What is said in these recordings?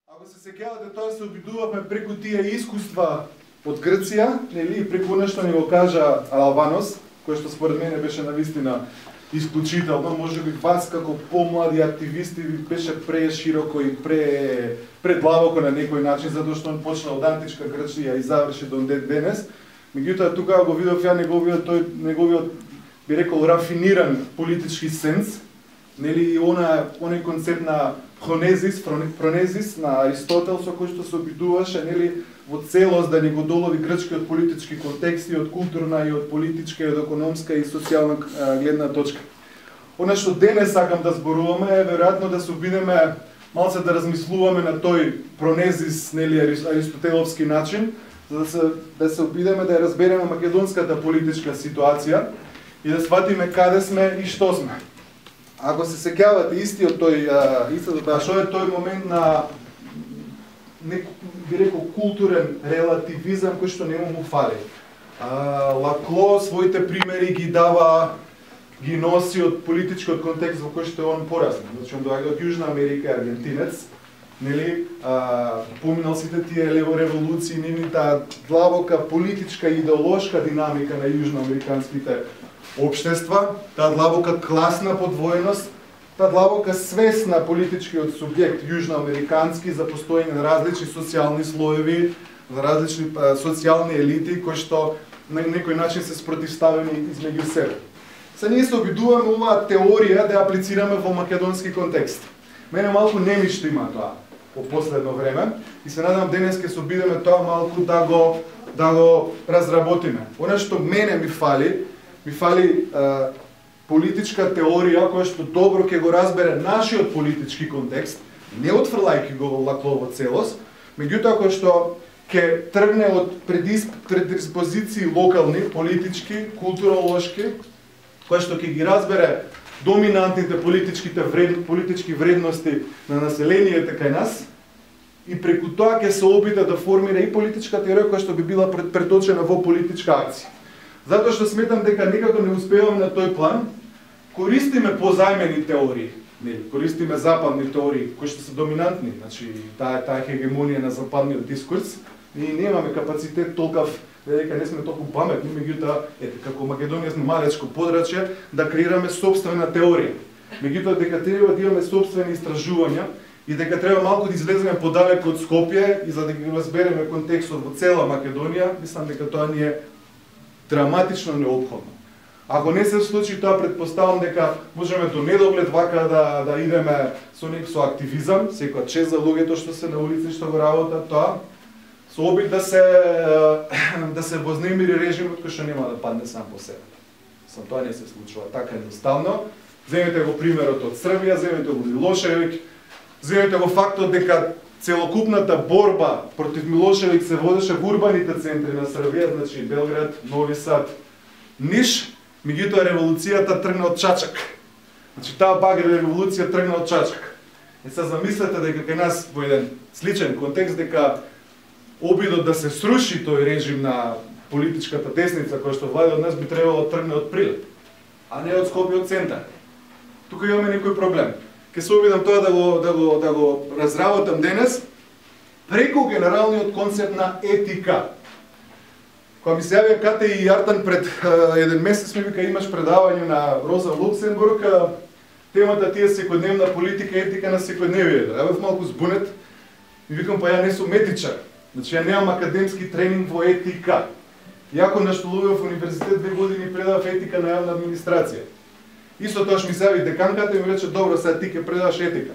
Ако се сеќавате, тоа се обидувавме преку тие искуства од Грција, нели, преку нешто ни го кажа Албанос, кој што според мене беше навистина исклучително, можеби вас како помлади активисти ви беше прешироко и предлабоко на некој начин, затоа што он почна од античка Грција и заврши до денес. Меѓутоа тука го видов ја неговиот би рекол рафиниран политички сенс, нели, оној концепт на фронезис на Аристотел со кој што се обидуваше, нели, во целост да ни го долови грчкиот политички контекст и од културна и од политичка и од економска и социјална гледна точка. Она што денес сакам да зборуваме е веројатно да се обидеме малце да размислуваме на тој пронезис, нели, аристотеловски начин, за да се обидеме да ја разбереме македонската политичка ситуација и да сватиме каде сме и што сме. Ако се сеќавате што е тој момент на би рекол културен релативизам кој што нему му фали. Лакло своите примери ги дава, ги носи од политичкиот контекст во кој што он порасна. Значи он доаѓа од Јужна Америка, аргентинец, нели, поминал сите тие револуции, нивната длабока политичка и идеолошка динамика на јужноамериканските општества, таа длабока класна подвоеност, таа длабока свест на политичкиот субјект јужноамерикански за постоење на различни социјални слоеви, за различни социјални елити кои што на некој начин се спротивставени измеѓу себе. Се ние се обидуваме оваа теорија да ја аплицираме во македонски контекст. Мене малку немишто има тоа по последно време и се надам денес ќе се обидеме тоа малку да го разработиме. Она што мене ми фали политичка теорија која што добро ќе го разбере нашиот политички контекст, не отфрлајќи го во Лаклово целост, меѓутоа кој што ќе тргне од предиспозиции локални, политички, културолошки, која што ќе ги разбере доминантните политички вредности на населението кај нас и преку тоа ќе се обиде да формира и политичка теорија која што би била преточена во политичка акција. Затоа што сметам дека некако не успеваме на тој план, користиме позајмени теории, користиме западни теории кои што се доминантни, значи таа хегемонија на западниот дискурс, и немаме капацитет толков, дека не сме толку паметни, меѓутоа како Македонија сме малечко подрачје да креираме сопствена теорија. Меѓутоа дека треба да имаме сопствени истражувања и дека треба малку да излеземе подалеку од Скопје и за да ги разбереме контекстот во цела Македонија, мислам дека тоа ни е драматично необходно. Ако не се случи тоа, претпоставам дека можеме до недоглед вака да идеме со активизам, секоја чест за луѓето што се на улици што го работат тоа, со обид да се вознемири режимот кој што нема да падне сам по себе. Тоа не се случува така едноставно. Земете го примерот од Србија, земете го Милошевиќ, земете го фактот дека целокупната борба против Милошевиќ се водеше во урбаните центри на Србија, значи Белград, Нови Сад, Ниш, меѓутоа револуцијата тргна од Чачак. Значи таа багрена револуција тргна од Чачак. И се замислете дека кај нас во еден сличен контекст дека обидот да се сруши тој режим на политичката десница која што владе од нас би требало да тргне од Прилеп, а не од Скопје од центар. Тука имаме некој проблем. Ке се обидам тоа да го разработам денес преку генералниот концепт на етика. Кога ми се јавија Кате и Јартан пред еден месец, ми вика имаш предавање на Роза Луксембург, темата тие секојдневна политика, етика на секојдневието. Ја бев малку збунет, ми викам па ја не сум етичар, значи ја немам академски тренинг во етика. Јако наштулував во универзитет 2 години предавав етика на јавна администрација. Исто тоа што ми се јави деканката и ми рече добро, сега ти ќе предаваш етика.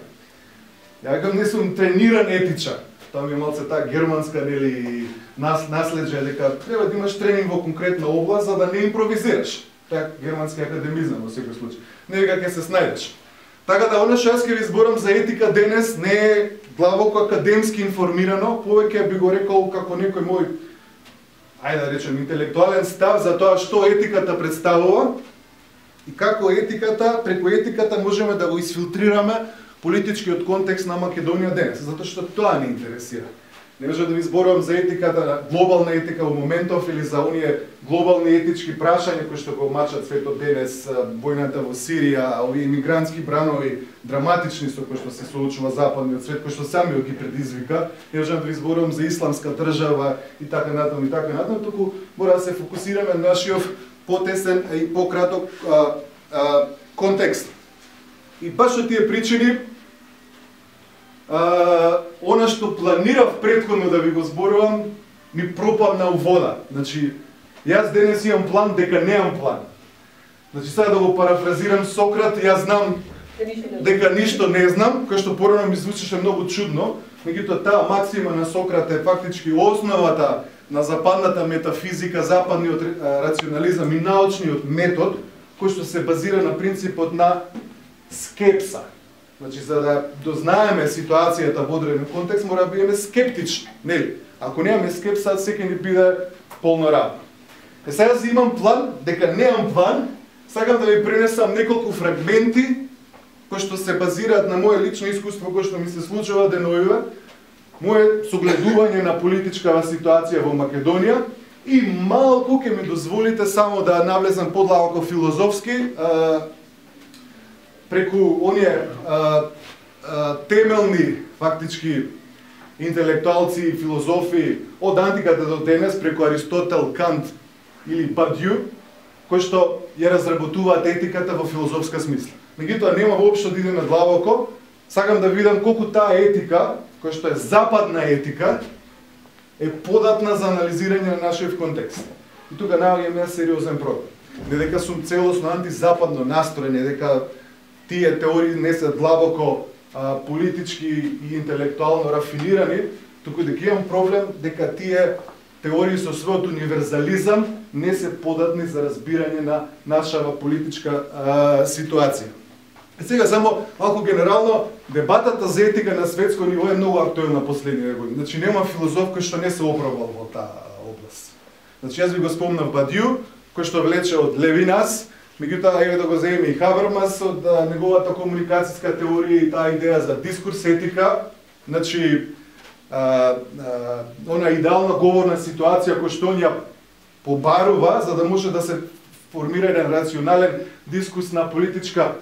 Ја викам не сум трениран етичар. Тоа ми е малце таа германска нели наслеđe дека треба да имаш тренинг во конкретна област за да не импровизираш. Тоа германски академизам во секој случај. Не дека ќе се снајдеш. Така да она што јас ќе ви зборам за етика денес не е длабоко академски информирано, повеќе би го рекол како некој мој ајде да речем интелектуален став за тоа што етиката представува и како преку етиката можеме да го изфилтрираме политичкиот контекст на Македонија денес, затоа што тоа не интересира. Не можам да ви зборувам за етиката, глобална етика во моментов или за оние глобални етички прашања кои што го мачат светот денес, војната во Сирија, овие имигрантски бранови драматични со кои што се соочува западниот свет, кои што сами ги предизвика. Не можам да ви зборувам за исламска држава и така натаму, туку мора да се фокусираме на нашиот потесен и пократок контекст. И баш од тие причини она што планирав претходно да ви го зборувам, ми пропадна у вода. Значи, јас денес имам план дека немам план. Значи, сега да го парафразирам Сократ, јас знам дека ништо не знам, кој што порано ми звучеше многу чудно, меѓутоа таа максима на Сократ е фактички основата на западната метафизика, западниот рационализам и научниот метод, кој што се базира на принципот на скепса. Значи, за да дознаеме ситуацијата во одреден контекст, мора да бидеме скептични, нели? Ако немаме скепса, секој ни биде полно работа. Сега си имам план, дека немам план, сакам да ви пренесам неколку фрагменти кои што се базираат на моје лично искуство кој што ми се случува деновиве, моје согледување на политичкава ситуација во Македонија и малку ќе ми дозволите само да навлезам подлабоко филозофски преку оние темелни фактички интелектуалци и филозофи од антиката до денес преку Аристотел, Кант или Бадју, кои што ја разработуваат етиката во филозофска смисла. Меѓутоа нема воопшто да идем надлабоко, сакам да видам колку таа етика, која што е западна етика, е податна за анализирање на нашиот контекст. И тука наоѓаме сериозен проблем. Не дека сум целосно антизападно настроен, не дека тие теории не се длабоко политички и интелектуално рафинирани, туку дека имам проблем дека тие теории со својот универзализам не се податни за разбирање на нашава политичка ситуација. И сега само малку генерално, дебатата за етика на светско ниво е многу актуелна последниве години. Значи нема филозоф кој што не се опробал во таа област. Значи јас ви го спомнав Бадју, кој што влече од Левинас, меѓутоа еве да го земеме и Хабермас од неговата комуникацијска теорија и таа идеја за дискурс етика, значи она идеална говорна ситуација која што он ја побарува за да може да се формира еден рационален дискурс на политичка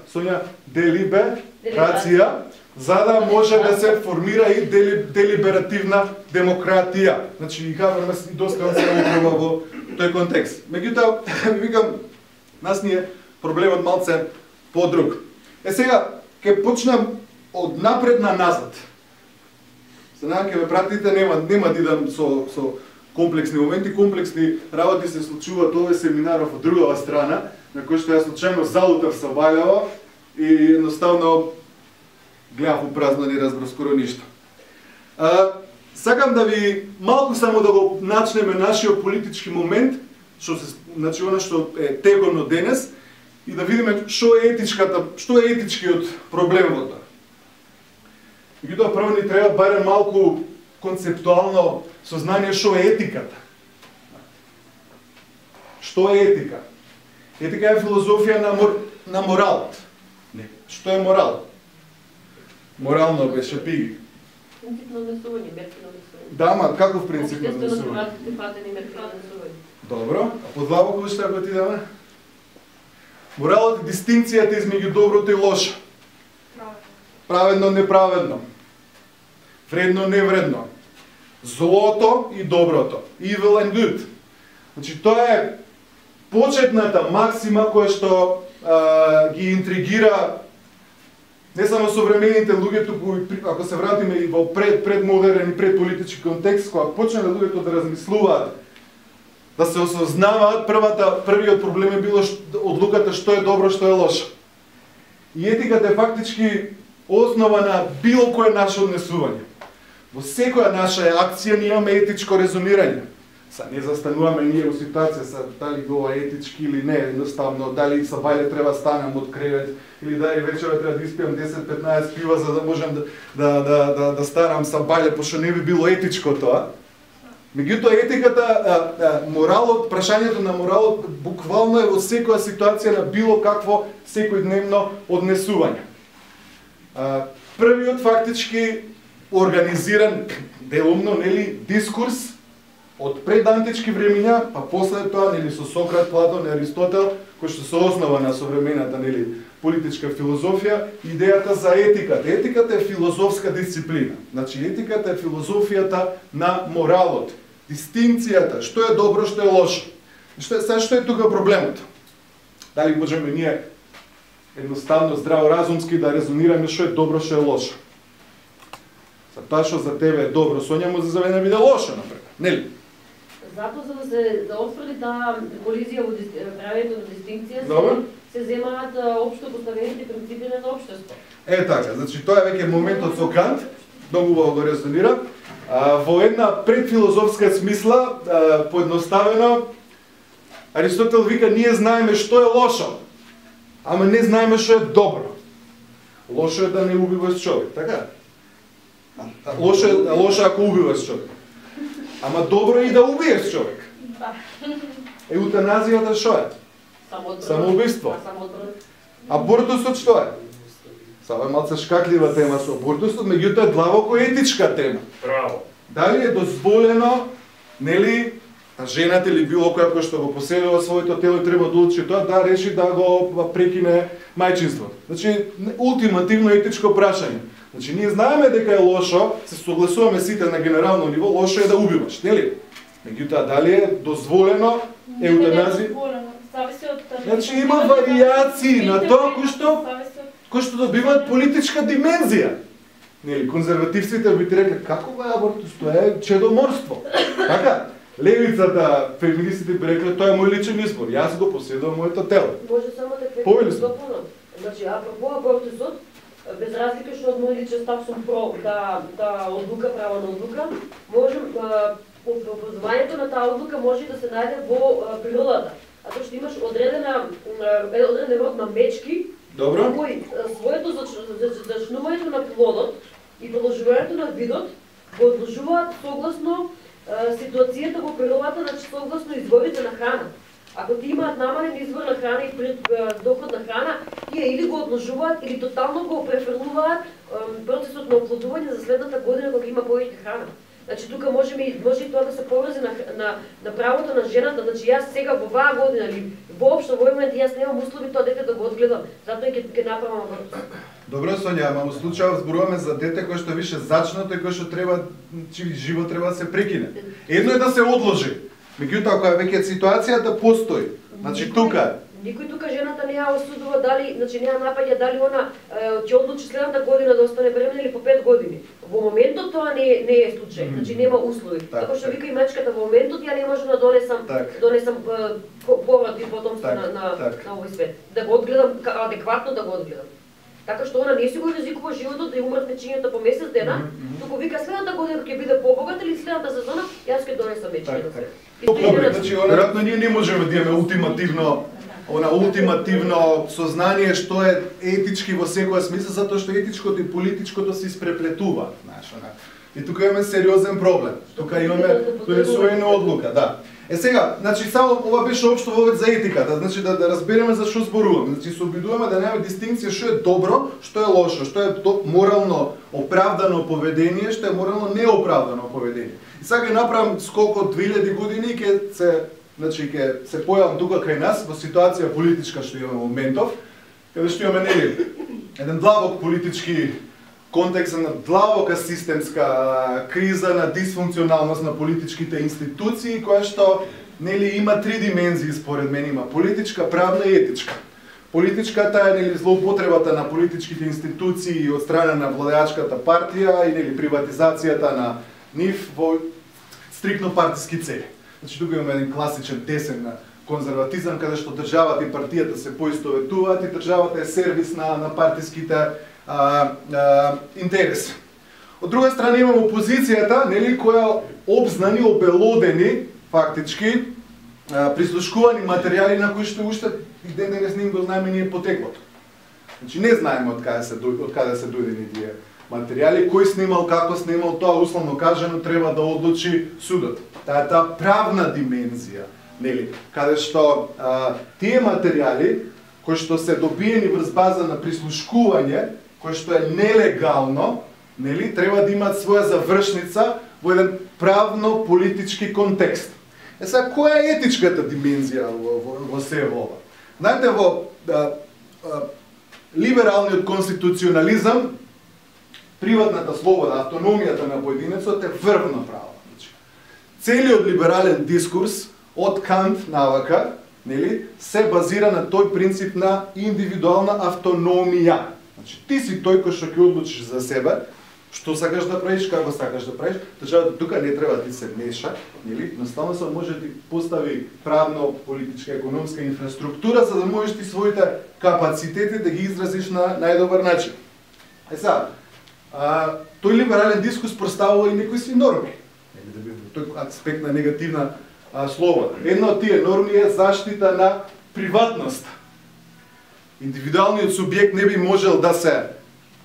делиберација, за да може да се формира и делиберативна демократија. Значи и Хабермас доста се опробува во тој контекст. Меѓутоа, викам, нас ни е проблемот малце подруг. Сега, ќе почнам од напред на назад. За надам ќе ме пратите, нема да идам со комплексни моменти, комплексни работи се случуваат овој семинаров од другава страна, на кој што ја случајно залутав со Бајлева и едноставно гледав у празно, не разбрав скоро ништо. Сакам да ви малку само да го начнеме нашиот политички момент, значи она што е текорно денес, и да видиме што е етичкиот проблем во тоа. Меѓутоа прво ни треба барем малку концептуално сознание што е етиката. Што е етика? Етика е филозофија на моралот. Не. Што е морал? Морално беше пиги. Принцип на однесување, мерки на однесување. Да, ма каков принцип на однесување? Добро, а подлабоко што ако ти даме? Моралот е дистинкцијата измеѓу доброто и лошо. Праведно, неправедно. Вредно, невредно. Злото и доброто. Evil and good. Значи, тоа е почетната максима која што ги интригира не само современите луѓе, туку ако се вратиме и во предмодерен и предполитички контекст, кога почнале луѓето да размислуваат, да се осознаваат, првиот проблем е било одлуката што е добро, што е лошо. И етиката е фактички основа на било кое наше однесување. Во секоја наша акција ние имаме етичко резонирање. Не застануваме ние во ситуација дали ова е етички или не, едноставно, дали са бајле треба станам од кревет, или дали вечера треба да испијам 10-15 пива за да можам да станам са бајле, пошто не би било етичко тоа. Меѓутоа етиката, моралот, прашањето на моралот буквално е во секоја ситуација на било какво секојдневно однесување. Првиот фактички организиран делумно, нели, дискурс од предантички времиња, па после тоа, нели, со Сократ, Платон и Аристотел, кој што се основа на современата, нели, политичка филозофија, идејата за етиката. Етиката е филозофска дисциплина. Значи, етиката е филозофијата на моралот, дистинцијата, што е добро, што е лошо. Што е тука проблемот? Дали можеме ние едноставно, здраворазумски да резонираме што е добро, што е лошо? За тоа што за тебе е добро, Сонја, може за мене биде лошо, например. Нели? Затоа за да се отфрли таа колизија во правењето на дистинција, се земаат општо поставените принципи на општество. Така, значи тоа е веќе моментот со Кант, многу убаво го резонира. Во една предфилозофска смисла, поедноставено, Аристотел вика, ние знаеме што е лошо, ама не знаеме што е добро. Лошо е да не убиваш човек, така? Лошо ако убиваш човек. Ама добро е и да убиеш човек. Еутаназијата што е? Самоубиство. Абортусот што е? Сава е малце шкаклива тема со абортусот, меѓутоа длабоко етичка тема. Браво. Дали е дозволено, нели, жената или било која кој што го поседува своето тело и треба да одлучи тоа, да реши да го прекине мајчинството. Значи, ултимативно етичко прашање. Значи, ние знаеме дека е лошо, се согласуваме сите на генерално ниво, лошо е да убиваш, нели? Меѓутоа, дали е дозволено еутаназија? Значи, има варијации на тоа кои што добиваат политичка димензија. Нели, конзервативците би ти рекле, како е абортус, тоа е чедоморство. Така? Левицата, феминистите би рекле, тоа е мој личен избор, јас го поседувам моето тело. Може само да допълнам. Значи, апропо абортусот, без разлика што од мој личен став сум про да одлука, право на одлука, можем образувањето на таа одлука може да се најде во природата. А тоа што имаш одреден род на мечки, кои своето зачнувањето на плодот и продолжувањето на видот го одложуваат согласно ситуацијата во природата, значи согласно изворите на храна. Ако ти имаат намален извор на храна и доход на храна, тие или го одложуваат, или тотално го префрлуваат процесот на оплодување за следната година кога има повеќе храна. Значи тука може и тоа да се поврзе на правото на жената, значи јас сега во оваа година или воопшто во момент јас немам услови тоа дете да го одгледам, затоа ќе направам абортус. Добро, Сонја, ама во случајот зборуваме за дете кое што више зачнато и кое што треба, чиј живот треба да се прекине. Едно е да се одложи, меѓутоа кога веќе ситуацијата постои, значи тука никој тука жената не ја осудува дали, значи не ја напаѓа дали она ќе одлучи следната година да остане бремена или по 5 години. Во моментот тоа не е случај, значи нема услови. Како што вика и мачката, во моментот ја не можам да донесам поврат и потомство на овој свет. Да го одгледам адекватно, да го одгледам. Така што она не си го ризикува животот да ја умрат мечињата по месец дена, туку вика следната година ќе биде побогата или следната сезона јас ќе донесам мечињата. Значи, веројатно ние не можеме да имаме ултимативно сознание што е етички во секоја смисла, затоа што етичкото и политичкото се испреплетуваат, знаеш, и тука имаме сериозен проблем. Тука имаме донесување одлука, да. Сега, значи само ова беше општо вовед за етиката, значи да разбереме за што зборуваме. Значи се обидуваме да немаме дистинкција што е добро, што е лошо, што е морално оправдано поведение, што е морално неоправдано поведение. И сега ќе направам скок од 2000 години и ќе се појавам тука кај нас во ситуација политичка што имаме во моментов, каде што имаме еден длабок политички контекст на длабока системска криза на дисфункционалност на политичките институции, која што има три димензии според мен, има политичка, правна и етичка. Политичката е злоупотребата на политичките институции од страна на владеачката партија и приватизацијата на нив во стрикно партиски цели. Значи тука имаме еден класичен десен конзерватизам, каде што државата и партијата се поистоветуваат и државата е сервис на партиските интереси. Од друга страна имаме опозицијата, која обзнани, обелодени, фактички, прислушкувани материјали на кои што уште и ден денес не го знаеме ние потеклото. Значи не знаеме од каде се дојдени тие материјали, кој снимал, како снимал, тоа условно кажано треба да одлучи судот. Таа е таа правна димензија, каде што тие материјали кои што се добиени врз база на прислушкување, кој што е нелегално, нели, треба да имаат своја завршница во еден правно-политички контекст. Сега, која е етичката димензија во се ова? Знаете, во либералниот конституционализам, приватната слобода, автономијата на поединецот е врвно право. Целиот либерален дискурс од Кант навака, нели, се базира на тој принцип на индивидуална автономија. Значи, ти си тој кој што ќе одлучиш за себе, што сакаш да правиш, како сакаш да правиш, државата тука не треба да ти се меша, нели? Едноставно се може да ти постави правно, политичка, економска инфраструктура за да можеш ти своите капацитети да ги изразиш на најдобар начин. Сега, тој либерален дискурс представува и некои си норми. Тој аспект на негативна слобода. Една од тие норми е заштита на приватноста. Индивидуалниот субјект не би можел да се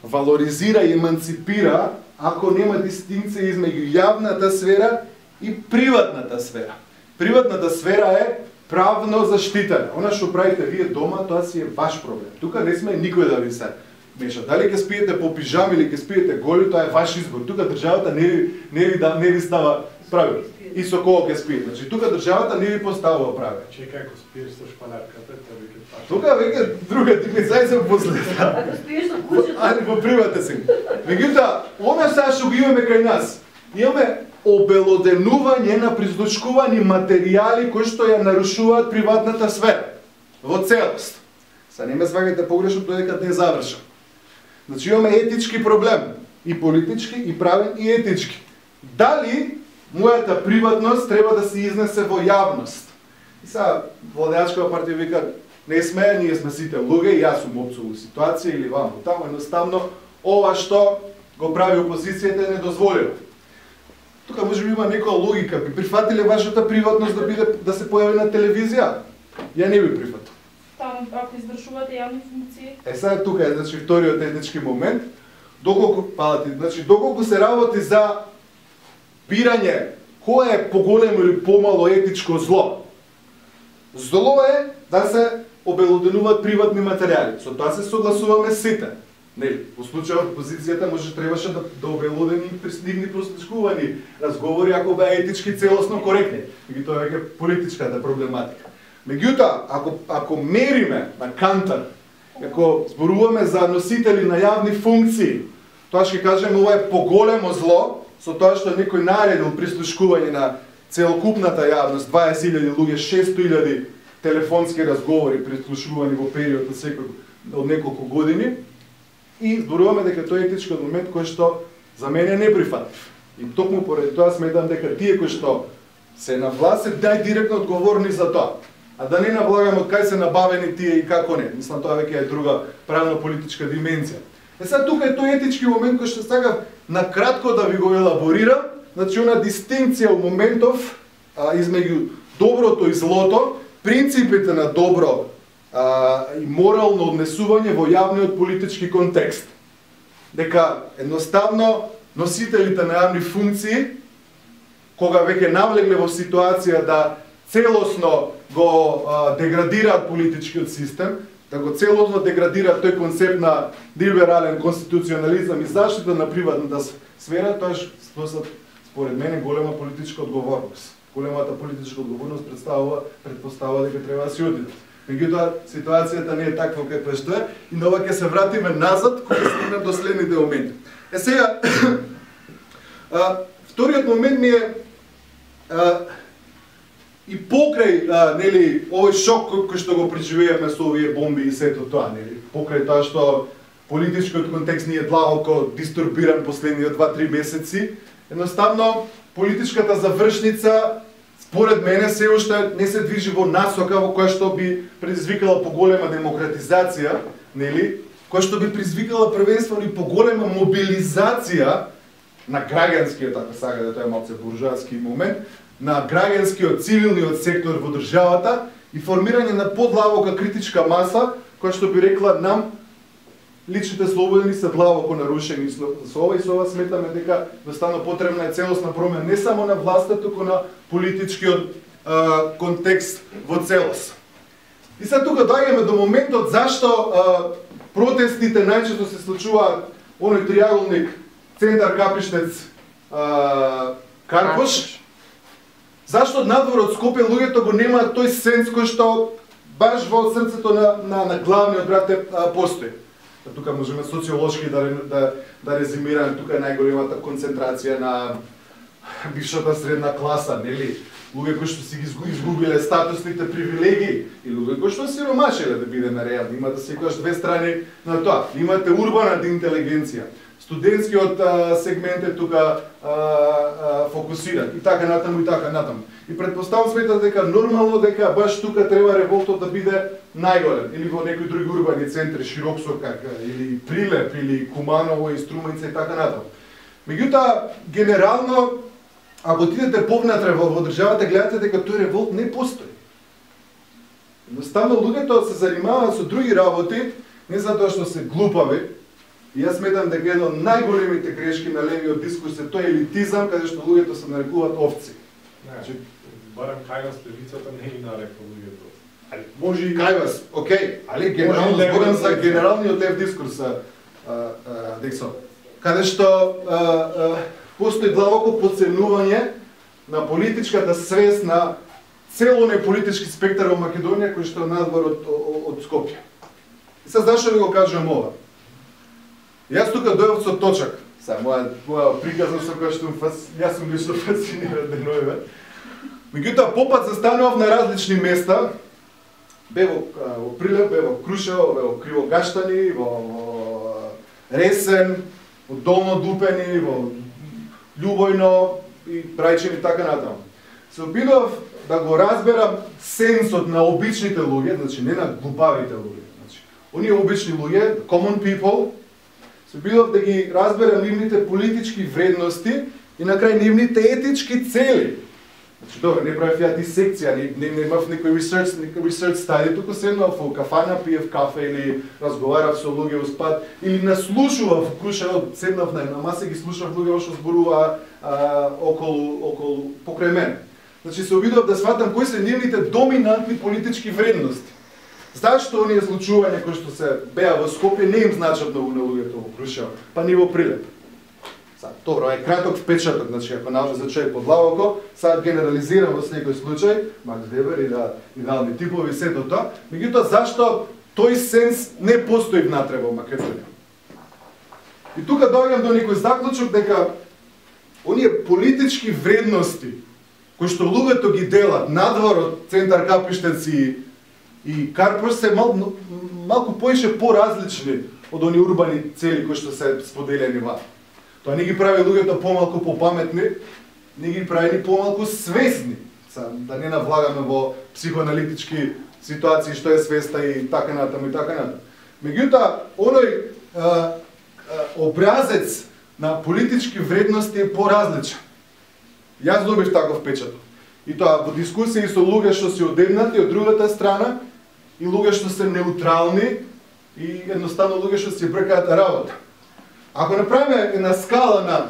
валоризира и еманципира ако нема дистинкција измеѓу јавната сфера и приватната сфера. Приватната сфера е правно заштитена. Она што правите вие дома, тоа си е ваш проблем. Тука не сме никој да ви се меша. Дали ќе спиете по пижами или ќе спиете голи, тоа е ваш избор. Тука државата не ви става правил. И со кого ќе спиете. Значи тука државата не ви поставува правил. Чекај, ако спиеш со шпалерката, тоа веќе паша. Тука веќе друга димenzија се после. Ако спиеш со кучето. Али во привата си. Меѓутоа, она сега што го имаме кај нас, имаме обелоденување на прислушкувани материјали кои што ја нарушуваат приватната сфера во целост. Сега не ме сваќате погрешно додека не е завршен. Значи имаме етички проблем, и политички, и правен, и етички. Дали мојата приватност треба да се изнесе во јавност? И сега владеачкава партија вика, не сме, ние сме сите луѓе, и јас сум опцов во ситуација или ваму таму, едноставно ова што го прави опозицијата е недозволено. Тука може би има некоја логика, би прифатиле вашата приватност да се појави на телевизија? Ја не би прифатил. Там ако извршувате јавни функции. Сега тука е значи вториот етнички момент, доколку се работи за бирање кој е поголемо или помало етичко зло. Зло е да се обелоденуваат приватни материјали. Со тоа се согласуваме сите. Нели, во случајот опозицијата требаше да обелодени нивни прослушкувани разговори ако беа етички целосно коректни. Меѓутоа веќе политичката проблематика. Меѓутоа, ако мериме на Кантар, ако зборуваме за носители на јавни функции, тоа ќе кажеме ова е поголемо зло, со тоа што некој наредил прислушкување на целокупната јавност, 20.000 луѓе, 600.000 телефонски разговори прислушувани во период од неколку години, и зборуваме дека тој етички момент кој што за мене е неприфатлив. И токму поради тоа сметам дека тие кои што се на власт се директно одговорни за тоа. А да не навлагаме од кај се набавени тие и како не. Мислам тоа веќе е друга правно-политичка димензија. Сега тука е тој етички момент кој што сакам на кратко да ви го елаборирам, значи она дистинкција во моментов измеѓу доброто и злото, принципите на добро и морално однесување во јавниот политички контекст. Дека едноставно носителите на јавни функции, кога веќе навлегле во ситуација да целосно го деградираат политичкиот систем, да го целосно деградираат тој концепт на либерален конституционализам и заштита на приватната сфера, тоа според мене голема политичка одговорност. Големата политичка одговорност предпоставува дека треба да се одиде. Меѓутоа, ситуацијата не е таква каква што е и на ова ќе се вратиме назад кога стигнем до следните моменти. Сега, вториот момент ми е и покрај нели овој шок кој што го преживеавме со овие бомби и сето тоа, нели, покрај тоа што политичкиот контекст ни е длабоко дистурбиран последниот 2-3 месеци, едноставно политичката завршница според мене се уште не се движи во насока во која што би предизвикала поголема демократизација, нели, која што би предизвикала првенствено и поголема мобилизација на граѓанскиот, ако сака да тоа е малце буржуарски момент, на граѓанскиот цивилниот сектор во државата и формирање на подлабока критичка маса која што би рекла нам личните слободи се длабоко нарушени со ова и со ова сметаме дека едноставно потребна е целосна промена не само на власта, туку на политичкиот контекст во целост. И сега тука доаѓаме до моментот зашто протестите најчесто се случуваат оној триаголник Центар Капиштец Карпуш, зашто надвор од Скопје луѓето го немаат тој сенс кој што баш во срцето на главниот град постои. Тука можеме социолошки да резимираме, тука е најголемата концентрација на бившата средна класа, нели? Луѓе кои што си ги изгубиле статусните привилегии и луѓе кои што сиромашеле, да бидеме реални. Има да се кажеш две страни на тоа. Имате урбаната интелигенција. Студентскиот сегмент е тука фокусиран и така натаму и така натаму. И предпоставам сметат дека нормално дека баш тука треба револтот да биде најголем или во некои други урбани центри, Широксокак или Прилеп или Куманово и Струмица и така натаму. Меѓутоа генерално ако отидете повнатре во државата, гледате дека тој револт не постои. Едноставно луѓето се занимаваат со други работи, не затоа што се глупави. И јас сметам дека едно од најголемите грешки на левиот дискурс е тој елитизам, каде што луѓето се нарекуваат овци. Значи, барем кај вас левицата не ги нарекува луѓето. Али може и кај вас, окей, али генерално зборам за генералниот лев дискурс, Дексо, каде што постои длабоко подценување на политичката свест на целоне политички спектар во Македонија кој што е надвор од Скопје. И сега зашто ви го кажувам ова? Јас тука дојдов со точак. Сега моја приказна со која што јас сум лично фасциниран деновиве. Меѓутоа попат застанував на различни места. Бе во Прилеп, бе во Крушево, бе во Кривогаштани, во Ресен, во Долно Дупени, во Љубојно и Брајчево и така натаму. Се обидов да го разберам сенсот на обичните луѓе, значи не на глупавите луѓе. Значи, оние обични луѓе, common people, се обидов да ги разберам нивните политички вредности и на крај нивните етички цели. Значи, добре, не правев ја дисекција, не имав некој research study, туку седнав во кафана, пиев кафе или разговарав со луѓе во спад, или наслушував, седнав на маса и ги слушав луѓе што зборуваа околу покрај мене. Значи се обидов да сватам кои се нивните доминантни политички вредности. Зашто оние случувања кои што се беа во Скопје не им значат многу на луѓето во Крушево, па ни во Прилеп. Добро, е краток впечаток, значи ако научи за човек подлабоко, сега генерализирам во секој случај, Макс Вебер и идеални типови и сето тоа, меѓутоа зашто тој сенс не постои внатре во Македонија. И тука доаѓам до некој заклучок дека оние политички вредности кои што луѓето ги делат надвор од Центар Капиштец и Карпуш се малку поише поразлични од оние урбани цели кои што се споделени ваа. Тоа не ги прави луѓето помалку попаметни, не ги прави ни помалку свесни. Да не навлагаме во психоаналитички ситуации што е свеста и така натаму и така натаму. Меѓутоа, оној образец на политички вредности е поразличен. Јас добив таков печаток. И тоа во дискусии со луѓе што се одеднати од другата страна и луѓе што се неутрални и едноставно луѓе што се бркаат работа. Ако направиме една скала на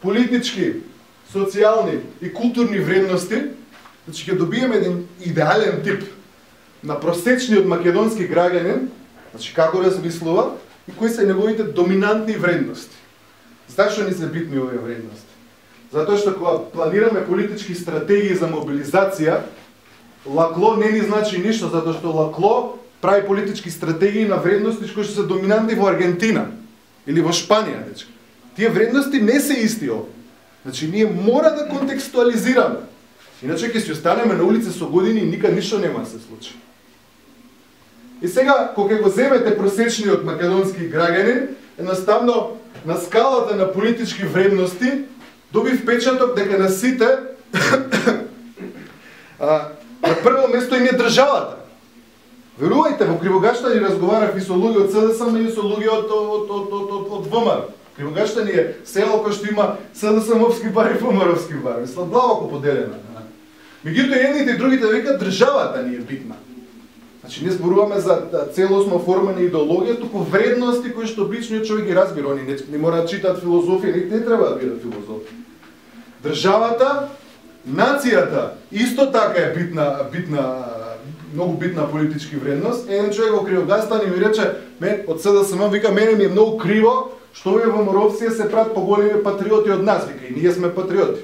политички, социјални и културни вредности, значи ќе добиеме еден идеален тип на просечниот македонски граѓанин, значи како размислува и кои се неговите доминантни вредности. Зашто ни се битни овие вредности? Затоа што кога планираме политички стратегии за мобилизација, лакло не ни значи ништо, затоа што лакло прави политички стратегии на вредности кои што се доминантни во Аргентина или во Шпанија, дечки. Тие вредности не се исти овде. Значи, ние мора да контекстуализираме. Иначе ќе си останеме на улица со години и никад ништо нема да се случи. И сега, кога го земете просечниот македонски граѓанин, едноставно на скалата на политички вредности доби впечаток дека на сите на прво место им е државата. Верувајте, во Кривогаштани разговарав и со луѓе од СДСМ и со луѓе од ВМРО. Кривогаштани е село кој што има СДСМовски бар и ВМРО-вски бар. Мисла, длабоко поделена. Меѓутоа, едните и другите викаат државата ни е битна. Значи, не зборуваме за целосно оформена идеологија, туку вредности кои што обичниот човек ги разбира. Они не мора да читаат филозофија, не треба да бидат филозофи. Државата, нацијата, исто така е многу битна политички вредност. Еден човек во Кривогастани ми рече, од СДСМ вика, мене ми е многу криво Што овие ВМРО-вци се прават поголеми патриоти од нас, вика, и ние сме патриоти.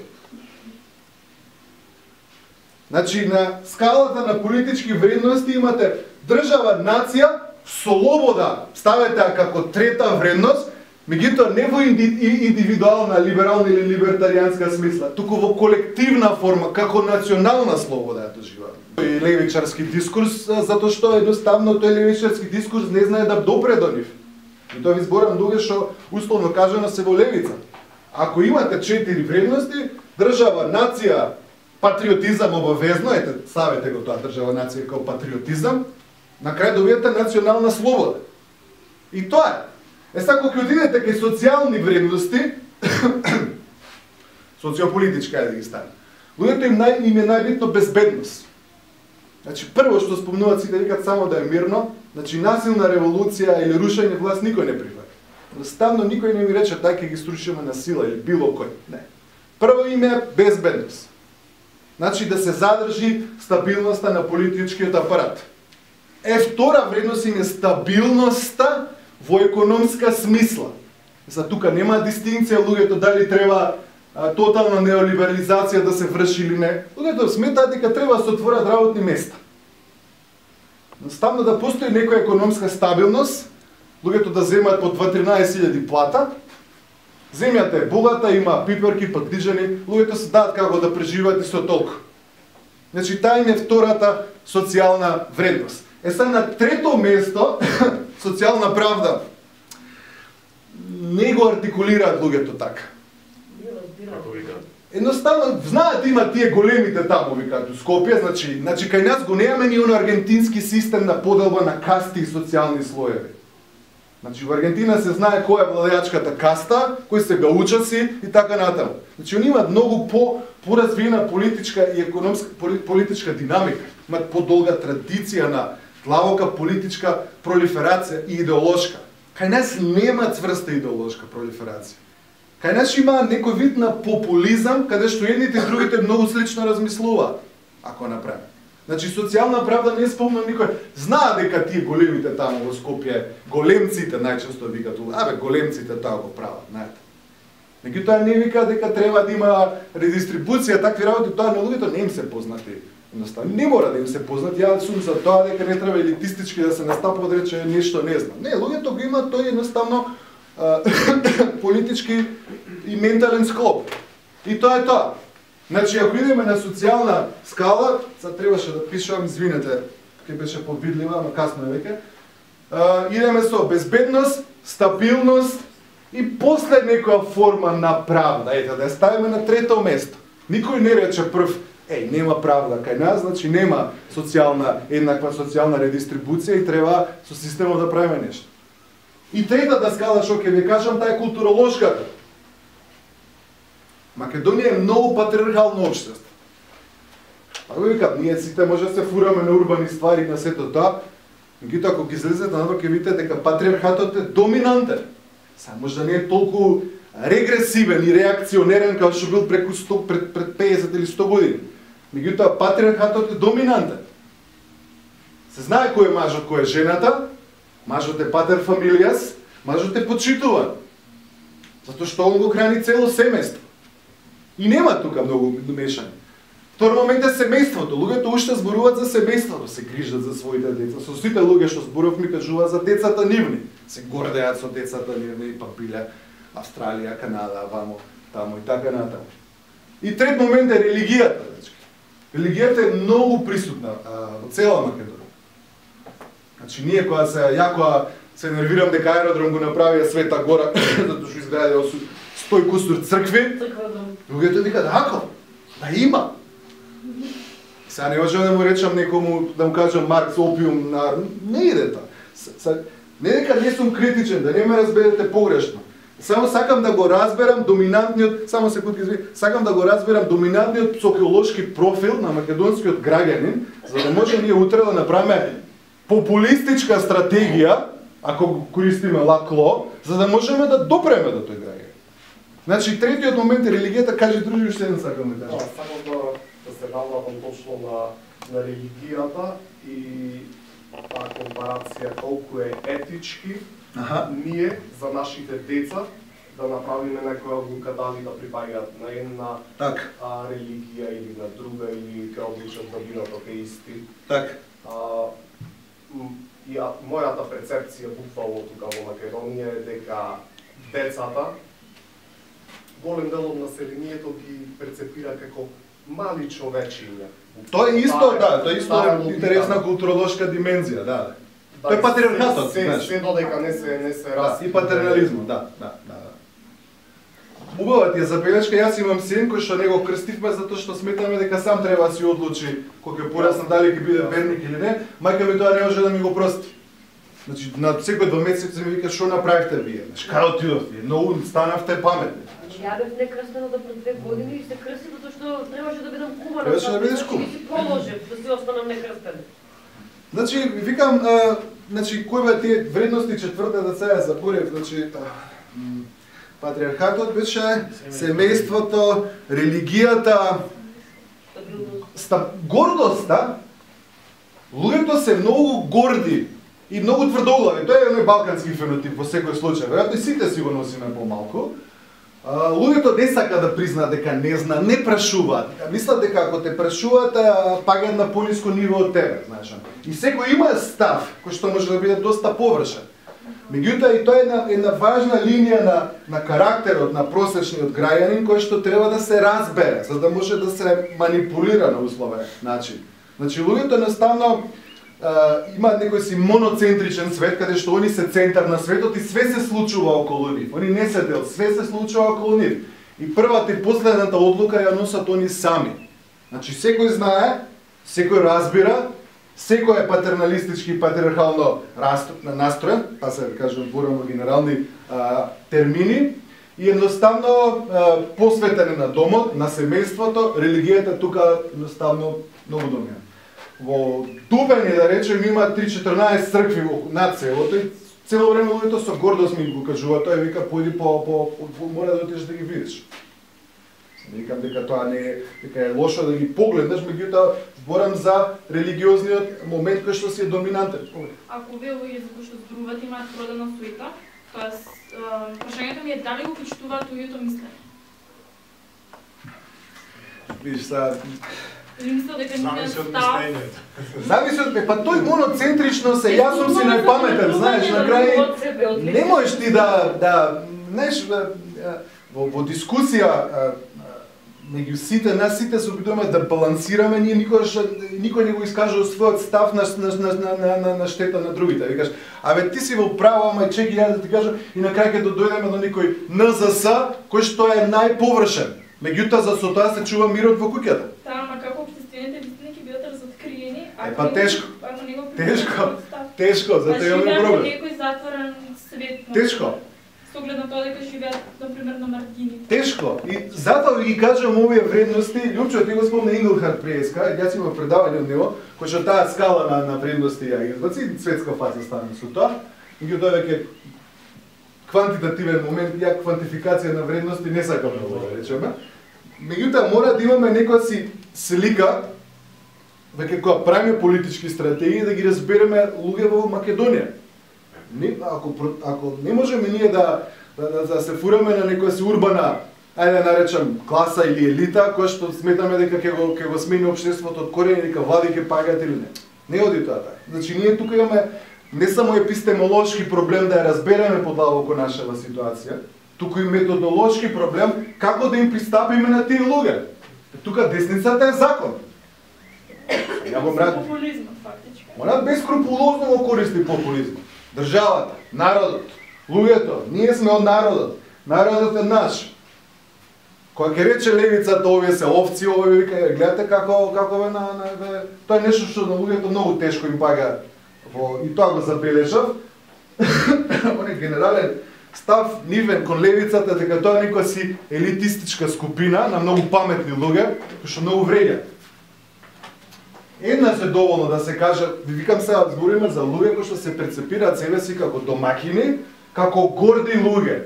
Значи, на скалата на политички вредности имате држава, нација, слобода, ставете како трета вредност, меѓутоа не во индивидуална, либерална или либертаријанска смисла, туку во колективна форма, како национална слобода ја доживаме. И левичарски дискурс, затоа што едноставно тој левичарски дискурс не знае да допре до нив. И тоа ви зборам луѓе што условно кажано се во левица. Ако имате 4 вредности, држава, нација, патриотизам обавезно, ете, ставете го тоа држава, нација како патриотизам, на крај добиете национална слобода. И тоа е. Сега, кога отидете кај социјални вредности, социополитичка е да ги стане, луѓето им е најбитно безбедност. Значи, прво што спомнуваат сите, викат само да е мирно, значи насилна револуција или рушење власт никој не прифаќа. Едноставно никој не ми рече тај ќе ги струшиме на сила или било кој. Не. Прво им е безбедност. Значи да се задржи стабилноста на политичкиот апарат. Втора вредност им е стабилноста во економска смисла. За тука нема дистинција луѓето дали треба тотална неолиберализација да се врши или не. Луѓето сметаат дека треба да се отворат работни места. Ставно да постои некоја економска стабилност, луѓето да земаат по 2-13.000 плата, земјата е богата, има пиперки, патиџани, луѓето се даат како да преживаат и со толку. Значи, таа им е втората социјална вредност. Сега на трето место, социјална правда, не го артикулираат луѓето така. Едноставно, знаат има тие големите таму, викаат, у Скопје, значи кај нас го немаме ни оно аргентински систем на поделба на касти и социјални слоеви. Значи, во Аргентина се знае која е владеачката каста, кои се гаучаци и така натаму. Значи, они имаат многу поразвиена политичка и економска политичка динамика. Имаат подолга традиција на длабока политичка пролиферација и идеолошка. Кај нас нема цврста идеолошка пролиферација. Кај нас има некој вид на популизам, каде што едните и другите многу слично размислуваат, ако направи. Значи, социјална правда не спомнам никој. Знаа дека тие големите таму во Скопје, големците најчесто викаат, големците тоа го прават, знаете. Меѓутоа не вика дека треба да има редистрибуција, такви работи, тоа на луѓето не им се познати. Едноставно, не мора да им се познати, ја сум за тоа дека не треба елитистички да се настапува да рече нешто не знам. Не, луѓето го имаат тој едноставно политички и ментален склоп. И тоа е тоа. Значи, ако идеме на социјална скала, сега требаше да пишам, извинете, ке беше повидлива, но касно е веќе, идеме со безбедност, стабилност и после некоја форма на правда. Ете, да ја ставиме на трето место. Никој не рече прв, нема правда кај нас, значи нема еднаква социјална редистрибуција и треба со системот да правиме нешто. И третата скала, што ќе ви кажам, таа е културолошката. Македонија е многу патриархално општество. Ако викат, ние сите може да се фураме на урбани ствари на сето тоа, меѓутоа ако ги излезете надвор ќе видите дека патриархатот е доминантен. Само може да не е толку регресивен и реакционерен како што бил пред 50 или 100 години. Меѓутоа патриархатот е доминантен. Се знае кој е мажот, кој е жената, мажот е патер фамилијас, мажот е почитуван. Затоа што он го храни цело семејство. И нема тука многу мешање. Втор момент е семејството. Луѓето уште зборуваат за семејството, се грижат за своите деца. Со сите луѓе што зборував ми кажуваат за децата нивни. Се гордеат со децата нивни, па биле Австралија, Канада, вамо, таму и така натаму. И трет момент е религијата. Религијата е многу присутна во цела Македонија. Значи ние кога се нервирам дека аеродром го направија Света Гора, затоа што изградија 100 кусур цркви, луѓето викаат, ако, да има. Сега не можам да му речам некому, да му кажам Маркс, опиум, не иде тоа. Не дека не сум критичен, да не ме разберете погрешно. Само сакам да го разберам доминантниот, сакам да го разберам доминантниот психолошки профил на македонскиот граѓанин, за да може ние утре да направиме популистичка стратегија, ако користиме лакло, за да можеме да допреме до тој граѓанин. Значи, третиот момент е религијата, кажи други, уште не сакам да кажам. Само да се навратам точно на религијата и таа компарација колку е етички ние за нашите деца да направиме некоја одлука дали да припаѓаат на една религија или на друга, или ќе одлучат да бидат атеисти. И мојата перцепција буквално тука во Македонија е дека децата, голем дел од населението ги перцепира како мали човечиња. Тоа е исто, тоа е исто интересна културолошка димензија, Тоа е патриархатот, знаеш. Се додека не се раси. И патернализмот, Убава ти е забелешка, јас имам син кој што него крстивме затоа што сметаме дека сам треба да си одлучи кога ќе порасне дали ќе биде верник или не, мајка ми тоа не може да ми го прости. Значи на секој 2 месеци ми вика што направивте вие? Каде отидовте? Многу станавте паметни. Ја бев некрстена до пред 2 години и се крсти затоа што требаше да бидам кумана. Требаше да бидеш кум. И си положив да си останам некрстена. Значи викам, кои бе тие вредности четврта да се ја заборев, значи патриархатот беше семејството, религијата, гордоста. Луѓето се многу горди и многу тврдоглави. Тоа е еден балкански фенотип во секој случај. Веројатно сите си го носиме помалку. Луѓето не сака да признаат дека не зна, не прашуваат. Мислат дека ако те прашуваат, пагаат на пониско ниво од тебе, знаеш. И секој има став кој што може да биде доста површен. Меѓутоа и тоа е една важна линија на карактерот на просечниот граѓанин кој што треба да се разбере, за да може да се манипулира на условен начин. Значи луѓето едноставно имаат некој си моноцентричен свет каде што они се центар на светот и све се случува околу нив. Они не се дел, све се случува околу нив. И првата и последната одлука ја носат они сами. Значи секој знае, секој разбира, секој е патерналистички и патриархално настроен, па се кажем зборувам генерални термини, и едноставно посветен на домот, на семејството, религијата тука едноставно многу доминира. Во Дупени, да речем, има 3-14 цркви над селото и цело време луѓето со гордост ми го кажува, тој вика појди мора да отидеш да ги видиш. Викам дека тоа не е, дека е лошо да ги погледнеш, меѓутоа зборам за религиозниот момент кој што си е доминантен. Ако вие луѓе за кои што зборуваат имаат продана суета, тоест прашањето ми е дали го почитуваат луѓето мислење? Видиш са Зависи од мислењето. Зависи од па тој моноцентрично се, јас сум си најпаметен, знаеш, на крај не можеш ти знаеш, во дискусија меѓу сите, нас сите се обидуваме да балансираме, ние никој не го искажува својот став на штета на другите. Викаш, абе ти си во право, ама чеки ја да ти кажам, и на крај ќе дојдеме до некој НЗС, кој што е најповршен. Меѓутоа за со тоа се чува мирот во куќата. Ама како општествените вистини ќе бидат разоткриени, па тешко. Тешко, затоа имаме проблем. Некој затворен свет. Тешко. Со оглед на тоа дека живеат например на маргини. Тешко. И затоа ви ги кажам овие вредности, Лјупчо ти го спомна Инглхарт Приеска, јас имам предавање од него, кој што таа скала на вредности ја избаци, светска фаца стане со тоа, и ги дојде квантитативен момент, ја квантификација на вредности не сакам да речеме. Меѓутоа мора да имаме некоја си слика веќе кога правиме политички стратегии да ги разбереме луѓе во Македонија. Ако не можеме ние да се фураме на некоја си урбана, ајде да наречам класа или елита, која што сметаме дека ќе го смени општеството од корени, дека влади ќе пагаат или не. Не оди тоа така. Значи ние тука имаме не само епистемолошки проблем да ја разбереме подлабоко нашава ситуација, туку и методолошки проблем како да им пристапиме на тие луѓе. Тука десницата е закон. Популизмот фактички. Она бескрупулозно го користи популизмот. Државата, народот, луѓето, ние сме од народот. Народот е наш. Кога ќе рече левицата овие се овци, овие вика, гледате како тоа е нешто што на луѓето многу тешко им пага. И тоа го забележав. Он е генерален став нивен кон левицата дека тоа е некоја си елитистичка скупина на многу паметни луѓе, кои што многу вреѓаат. Една се доволно да се каже, викам сега збориме за луѓе кои што се перцепираат себе си како домакини, како горди луѓе.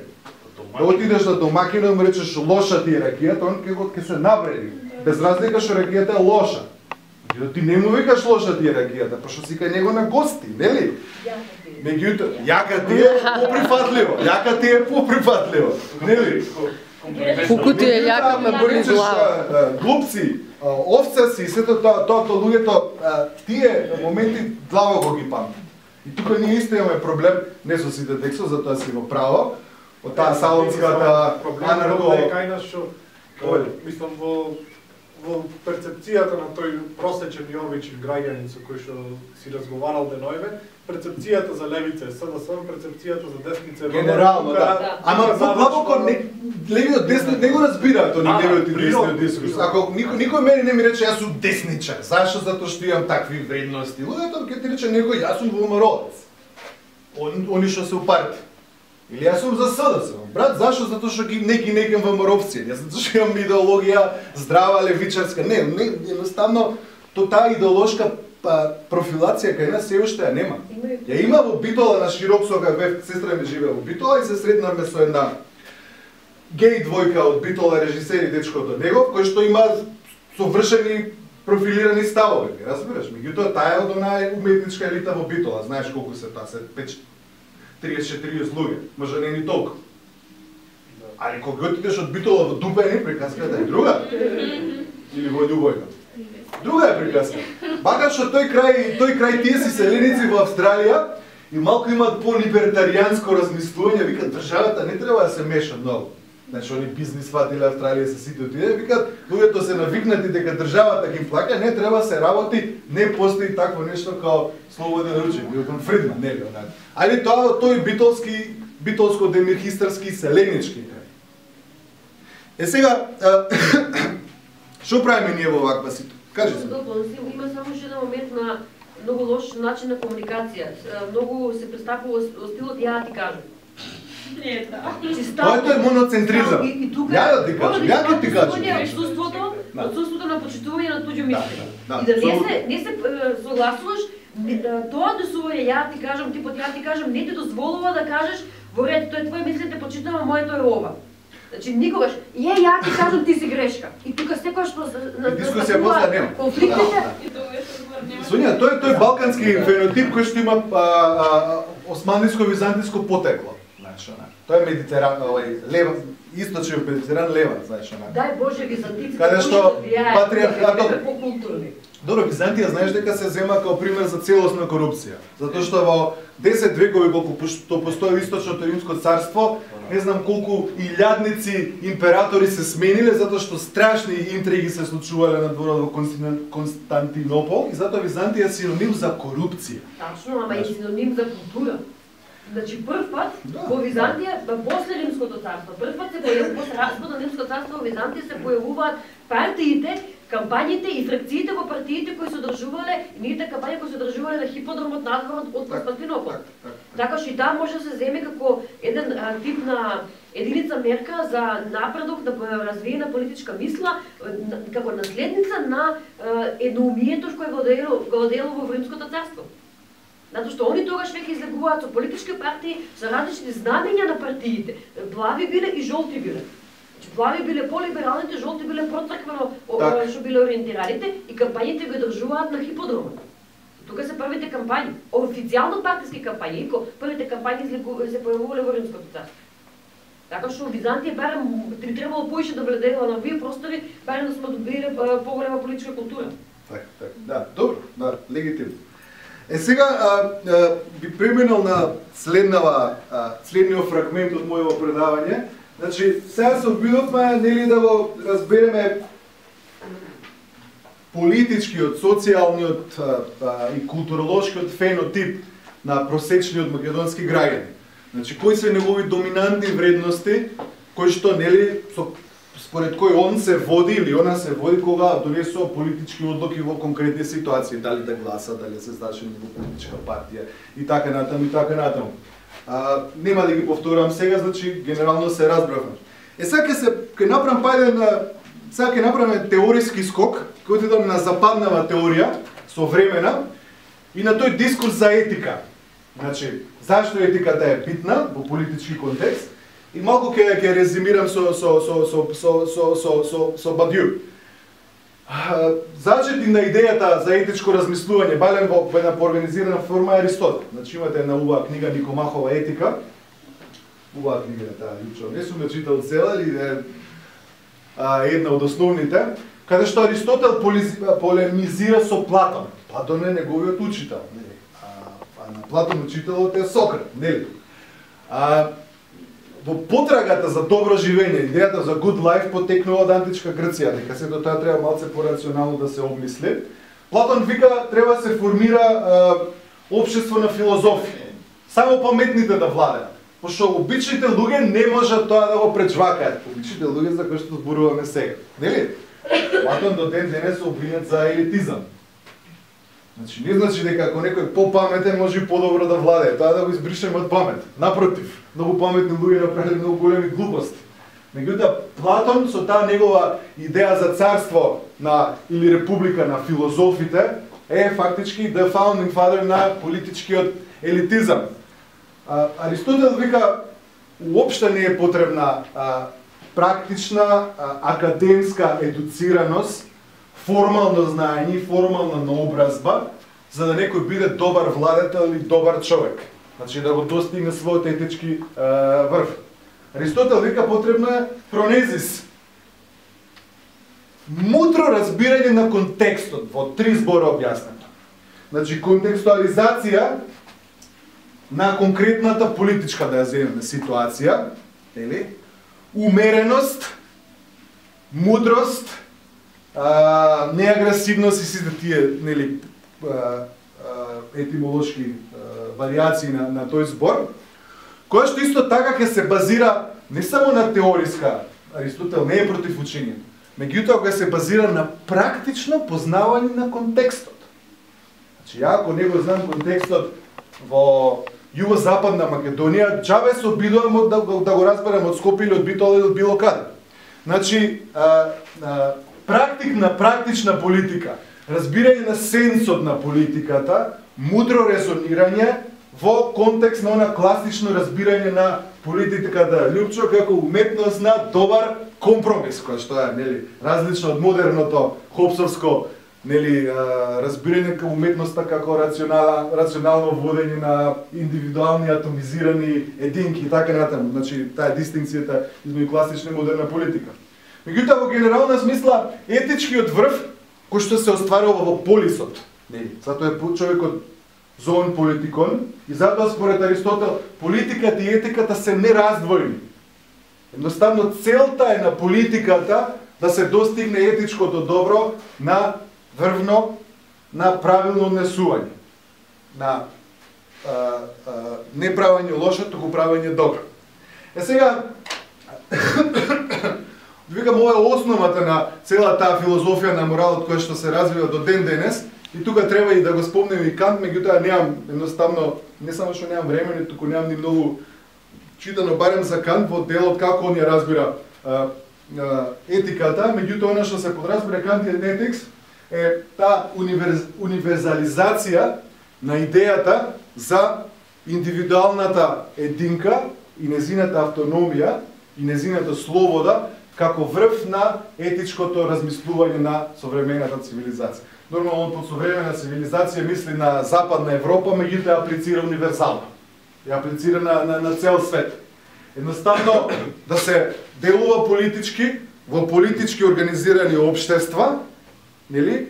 Да отидеш на домакина и му речеш лоша ти е ракијата, он ќе се навреди. Без разлика што ракијата е лоша. Ти не му викаш лоша ти е ракијата, пошто си кај него на гости, нели? Меѓутоа, јака ти е поприфатливо, нели? Колку ти е јака ме боли глава. Глупци, овца си, сето тоа луѓето, тие моменти длабоко ги памти. И тука ние исто имаме проблем, не со сите текстови, затоа си во право, од таа салонската анарко... Кај нас што, мислам, во перцепцијата на тој просечен Јовичев граѓанин со кој што си разговарал денојве, перцепцијата за левица е СДС, перцепцијата за десница е генерално, да. Ама подлабоко левиот деснот не го разбираат они левиот и десниот дискурс. Ако никој мене не ми рече јас сум десничар, зашто? Затоа што имам такви вредности. Луѓето ќе ти рече некој јас сум ВМРО-ец. Они што се упарти. Или јас сум за СДС. Брат, зашто? Затоа што не ги некам ВМРО-овци. Јас затоа што имам идеологија здрава левичарска. Не, едноставно таа идеолошка профилација кај нас се уште ја нема. Ја има во Битола на Широксога, сестра ми живее во Битола и се сретнавме со една геј двојка од Битола, режисер и дечкото негов, кој што има совршени профилирани ставови, разбираш? Меѓутоа таа е од онаа уметничка елита во Битола, знаеш колку се таа, се 30-40 луѓе, може не ни толку. Али кога отидеш од Битола во Дупени, приказката е друга. Или во Љубојка. Друга е приказка. Бакат што тој крај тие си селеници во Австралија и малку имаат по-либертаријанско размислување, викат државата не треба да се меша многу. Значи они бизнис фатиле Австралија се сите отиде, викат луѓето се навикнати дека државата ги плаќа, не треба се работи, не постои такво нешто као слободен ручек, Милтон Фридман, нели онака. Али тоа тој битолско-демирхистарски селенички крај. Сега што правиме ние во ваква ситуација? Кажи се. Има само уште еден момент на многу лош начин на комуникација. Многу се пристапува стилот ја ти кажам. Тоа е моноцентризам. Ја да ти кажам, ја ќе ти кажам. Отсутството на почитување на туѓо мислење. И да не се согласуваш, тоа однесување ја ти кажам, типот ја ти кажам, не ти дозволува да кажеш во ред, тоа е твое мислење, те почитувам, моето е ова. Значи никогаш, ја ти кажам ти си грешка. И тука секогаш дискусија после нема. Конфликтите. Сонја, тој балкански фенотип кој што има османлиско-византиско потекло. Знаеш, тоа е медитеран, лева, источен медитеран лева, знаеш, она. Дај Боже византиците. Каде што патриархатот по-културни. Добро, Византија знаеш дека се зема како пример за целосна корупција. Затоа што во 10 векови колку што постои источното римско царство, не знам колку илјадници императори се смениле затоа што страшни интриги се случувале на дворот во Константинопол и затоа Византија е синоним за корупција. Тачно, ама и синоним за култура. Значи прв пат во Византија, после Римското царство, прв пат се појавува после распадот на Римското царство во Византија се појавуваат партиите, кампањите и фракциите во партиите кои се одржувале, нивните кампањи кои се одржувале на хиподромот надвор од Константинопол. Така што и таа може да се земе како еден тип на единица мерка за напредок на развиена политичка мисла, како наследница на едноумието кој владеело во Римското царство. Затоа што они тогаш веќе излегуваат со политички партии, со различни знамења на партиите. Плави биле и жолти биле. Плави биле по-либералните, жолти биле про-црквено што биле ориентираните и кампањите го држуваат на хиподромот. Тука се првите кампањи, официјално партиски кампањи, првите кампањи се појавувале во Римското царство. Така што Византија барем би требало поише да владеела на овие простори, барем да сме добиле поголема политичка култура. Така, да, добро, да, легитимно. Сега би преминал на следниот фрагмент од мојот предавање. Значи, сега се обидовме нели да го разбереме политичкиот, социјалниот и културолошкиот фенотип на просечниот македонски граѓанин. Значи, кои се негови доминантни вредности, кои што нели според кој он се води или она се води кога донесува политички одлуки во конкретни ситуации, дали да гласа, дали се зачини во политичка партија и така натаму и така натаму. Нема да ги повторам сега, значи генерално се разбравме. Сега ќе направам сега ќе направиме теориски скок, кој отидам на западнава теорија, современа, и на тој дискурс за етика. Значи, зашто етиката е битна во политички контекст, и малку ќе резимирам со Бадју. Зачети на идејата за етичко размислување, балем во една поорганизирана форма е Аристотел. Значи имате една убава книга Никомахова етика. Убава книга таа, лично не сум ја читал цела, или една од основните, каде што Аристотел полемизира со Платон. Платон е неговиот учител, нели? А на Платон учителот е Сократ, нели? Во потрагата за добро живење, идејата за good life потекнува од античка Грција, дека сето тоа треба малце порационално да се обмисли. Платон вика треба да се формира општество на филозофи. Само паметните да владеат. Пошто обичните луѓе не можат тоа да го пречвакаат. Обичните луѓе за кои што зборуваме сега. Нели? Платон до ден денес се обвинет за елитизам. Значи не значи дека ако некој попаметен може и подобро да владее, тоа да го избришеме од памет. Напротив, многу паметни луѓе направиле многу големи глупости. Меѓутоа Платон со таа негова идеја за царство на или република на филозофите е фактички the founding father на политичкиот елитизам. Аристотел вика уопште не е потребна практична академска едуцираност, формално знаење и формална наобразба, за да некој биде добар владетел или добар човек. Значи да го достигне својот етички врв. Аристотел вика потребна е фронезис. Мудро разбирање на контекстот, во 3 збора објаснато. Значи контекстуализација на конкретната политичка, да ја земеме, ситуација, или умереност, мудрост, неагресивност и сите тие, нели, етимолошки варијации на тој збор, која што исто така ќе се базира не само на теориска, Аристотел не е против учењето, меѓутоа ќе се базира на практично познавање на контекстот. Значи, ја ако не го знам контекстот во југозападна Македонија, џабе се обидувам да го разберам од Скопје или од Битола или од било каде. Значи, практична политика, разбирање на сенсот на политиката, мудро резонирање во контекст на она класично разбирање на политиката Лјупчо како уметност на добар компромис, кој што е, нели, различно од модерното хопсовско, нели, разбирање како уметноста како рационално водење на индивидуални атомизирани единки и така натаму. Значи, таа е дистинкцијата измеѓу класична и модерна политика. Меѓутоа, во генерална смисла, етичкиот врв, кој што се остварува во полисот, нели, затоа е човекот зоон политикон, и затоа според Аристотел, политиката и етиката се нераздвојни. Едноставно, целта е на политиката да се достигне етичкото добро на врвно, на правилно однесување, на не правење лошо, туку правење добро. Сега, викам, ова е основата на цела таа филозофија на моралот која што се развива до ден денес, и тука треба и да го спомнем и Кант, меѓутоа немам едноставно, не само што немам време, туку немам ни многу читано барем за Кант во делот како он ја разбира етиката, меѓутоа она што се подразбира Kantиan Ethics е таа универзализација на идејата за индивидуалната единка и незината автономија и незината слобода како врв на етичкото размислување на современата цивилизација. Нормално под современна цивилизација мисли на Западна Европа, меѓутоа ја аплицира универзално. Ја аплицира на цел свет. Едноставно да се делува политички во политички организирани општества, нели?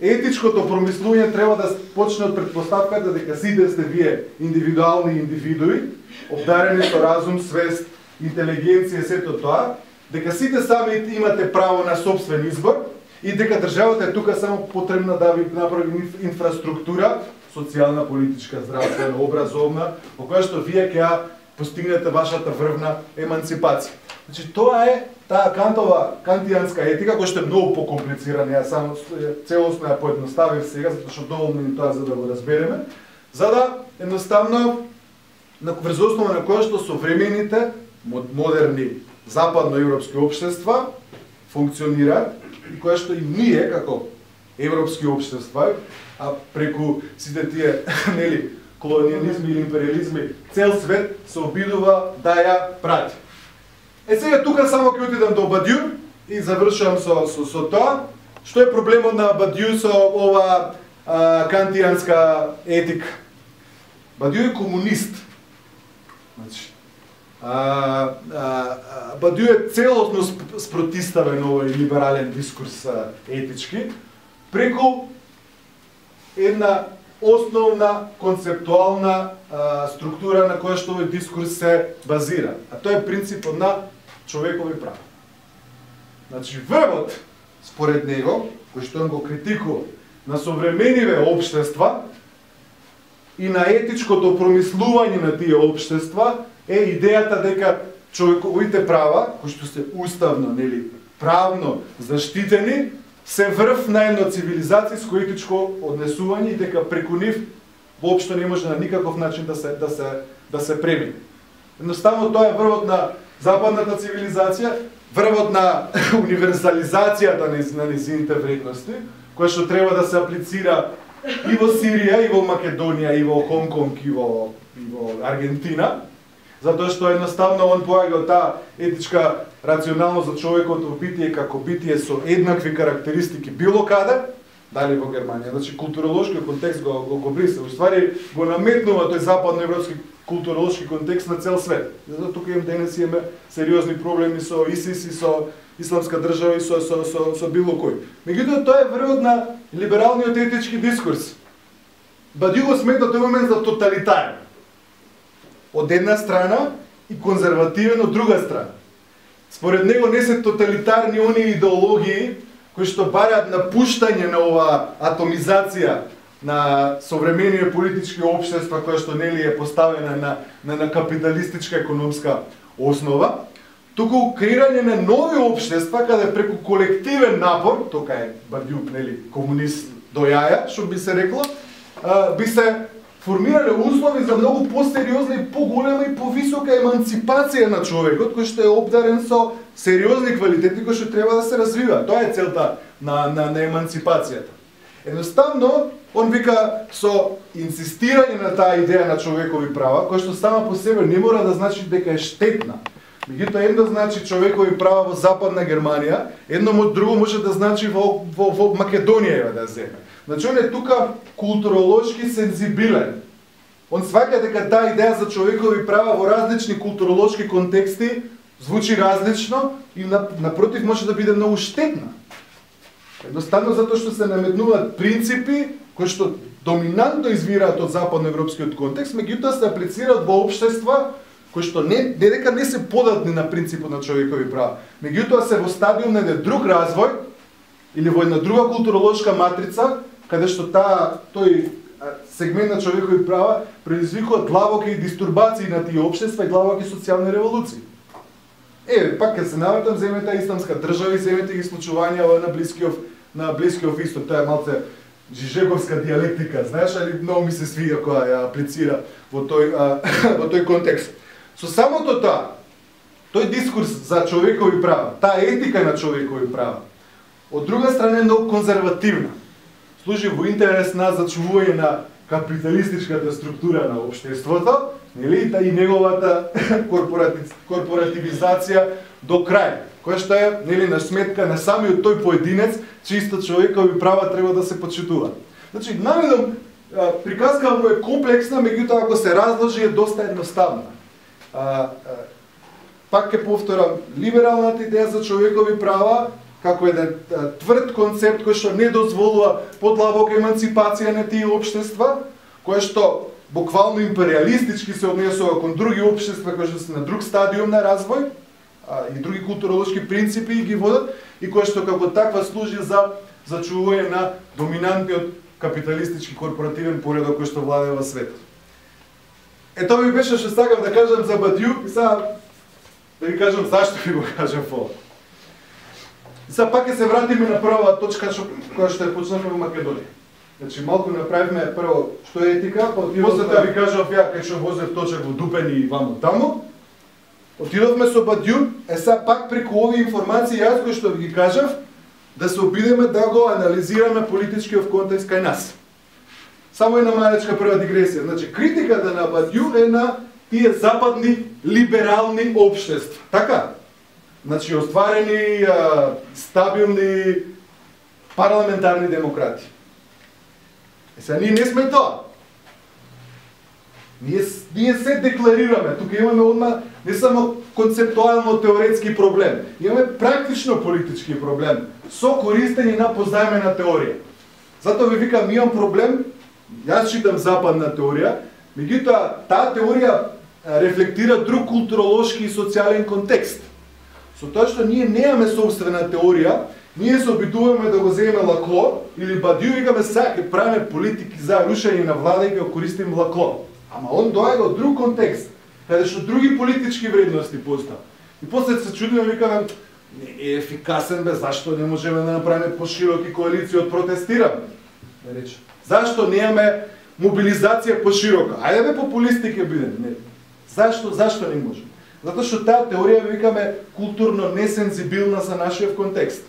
Етичкото промислување треба да почне од претпоставката дека сите сте вие индивидуални индивидуи, обдарени со разум, свест, интелигенција, сето тоа, дека сите сами имате право на собствен избор и дека државата е тука само потребна да ви направи инфраструктура, социјална, политичка, здравствена, образовна, во која што вие ќе постигнете вашата врвна еманципација. Значи, тоа е таа кантијанска етика, која што е многу покомплицирана, ја само целосно ја поедноставив сега, затоа што доволно ни тоа за да го разбереме, за да едноставно врз основа на која што современите модерни западноевропски општества функционираат и која што и ние како европски општества, а преку сите тие нели колониализми или империализми, цел свет се обидува да ја прати. Сега тука само ќе отидам до Бадјур и завршувам со тоа. Што е проблемот на Бадју со ова кантијанска етика? Бадју е комунист. Значи, Бадју е целосно спротиставен овој либерален дискурс етички преку една основна концептуална структура на која што овој дискурс се базира, а тоа е принципот на човекови права. Значи, врвот, според него, кој што он го критикува, на современиве општества и на етичкото промислување на тие општества е идејата дека човековите права, кои што се уставно, нели, правно заштитени, се врв на едно цивилизацијско етичко однесување и дека преку нив воопшто не може на никаков начин да се премине. Едноставно тоа е врвот на западната цивилизација, врвот на универзализацијата на незините вредности, која што треба да се аплицира и во Сирија, и во Македонија, и во Хонг-Конг, и во Аргентина, затоа што едноставно он поаѓа од таа етичка рационалност за човековото битие како битие со еднакви карактеристики било каде, дали во Германија. Значи културолошкиот контекст го бриса, уствари го наметнува тој западноевропски културолошки контекст на цел свет. Затоа тука денес имаме сериозни проблеми со ИСИС и со исламска држава и со било кој. Меѓутоа тоа е врвот на либералниот етички дискурс. Бадју го смета тој момент за тоталитарен. Од една страна и конзервативен од друга страна. Според него не се тоталитарни оние идеологии кои што бараат напуштање на ова атомизација на современија политички општества која што нели е поставена на капиталистичка економска основа, туку креирање на нови општества каде преку колективен напор, тока е Бадју, нели, комунист до јаја, што би се рекло, би се формирале услови за многу посериозна и поголема и повисока еманципација на човекот, кој што е обдарен со сериозни квалитети кои што треба да се развива. Тоа е целта на еманципацијата. Едноставно, он вика со инсистирање на таа идеја на човекови права, која што сама по себе не мора да значи дека е штетна. Меѓутоа едно значи човекови права во Западна Германија, едно друго може да значи во Македонија да земе. Значи он е тука културолошки сензибилен. Он сваќа дека таа идеја за човекови права во различни културолошки контексти звучи различно и напротив може да биде многу штетна. Едноставно затоа што се наметнуваат принципи кои што доминантно извираат од западноевропскиот контекст, меѓутоа се аплицираат во општества кои што не дека не се податни на принципот на човекови права, меѓутоа се во стадиум на друг развој или во една друга културолошка матрица, каде што тој сегмент на човекови права предизвикува длабоки дистурбации на тие општества и длабоки социјални револуции. Пак ќе се навратам, земете исламска држава и земете ги случувања на Блискиот Исток, тоа е малце жижеговска диалектика, знаеш, али многу ми се свига кога ја аплицира во тој контекст. Со самото тоа, тој дискурс за човекови права, таа етика на човекови права, од друга страна е многу конзервативна. Служи во интерес на зачувување на капиталистичката структура на општеството, нели, и неговата корпоративизација до крај, која што е, нели, на сметка на самиот тој поединец, чисто човекови права треба да се почитуваат. Значи, наведом, приказкава му е комплексна, меѓутоа ако се разложи е доста едноставна. Пак ќе повторам, либералната идеја за човекови права како еден тврд концепт кој што не дозволува подлабока еманципација на тие општества, која што буквално империалистички се однесува кон други општества кои што се на друг стадиум на развој и други културолошки принципи ги водат и која што како таква служи за зачувување на доминантниот капиталистички корпоративен поредок кој што владее во светот. Тоа ми беше што сакав да кажам за Бадју и сега да ви кажам зашто ви го кажам ова. И сега пак ќе се вратиме на прва точка која што ја почнавме во Македонија. Значи малку направивме прво што е етика, после да ви кажав ја кај што возев точак во Дупен и вамо таму. Отидовме со Бадју, сега пак преку овие информации јас кои што ви ги кажав, да се обидеме да го анализираме политичкиот контекст кај нас. Само една малечка прва дигресија. Значи критиката на Бадју е на тие западни либерални општества. Така? Значи, остварени, стабилни, парламентарни демократи. Сега ние не сме тоа. Ние се декларираме, тука имаме одма не само концептуално теоретски проблем, имаме практично политички проблем со користење на позајмена теорија. Затоа ви викам, имам проблем, јас читам западна теорија, меѓутоа таа теорија рефлектира друг културолошки и социјален контекст. Со тоа што ние немаме собствена теорија, ние се обидуваме да го земеме Лакло или Бадиу, викаме сега ќе правиме политики за рушење на влада и ќе го користиме Лакло. Ама он доаѓа од друг контекст, каде што други политички вредности постаа. И после се чудиме, викаме, не е ефикасен бе, зашто не можеме да направиме пошироки коалиции од протестирам? Зашто немаме мобилизација поширока? Ајде бе популисти ќе бидеме. Зашто не можеме? Затоа што таа теорија, викаме, културно несензибилна за нашиот контекст.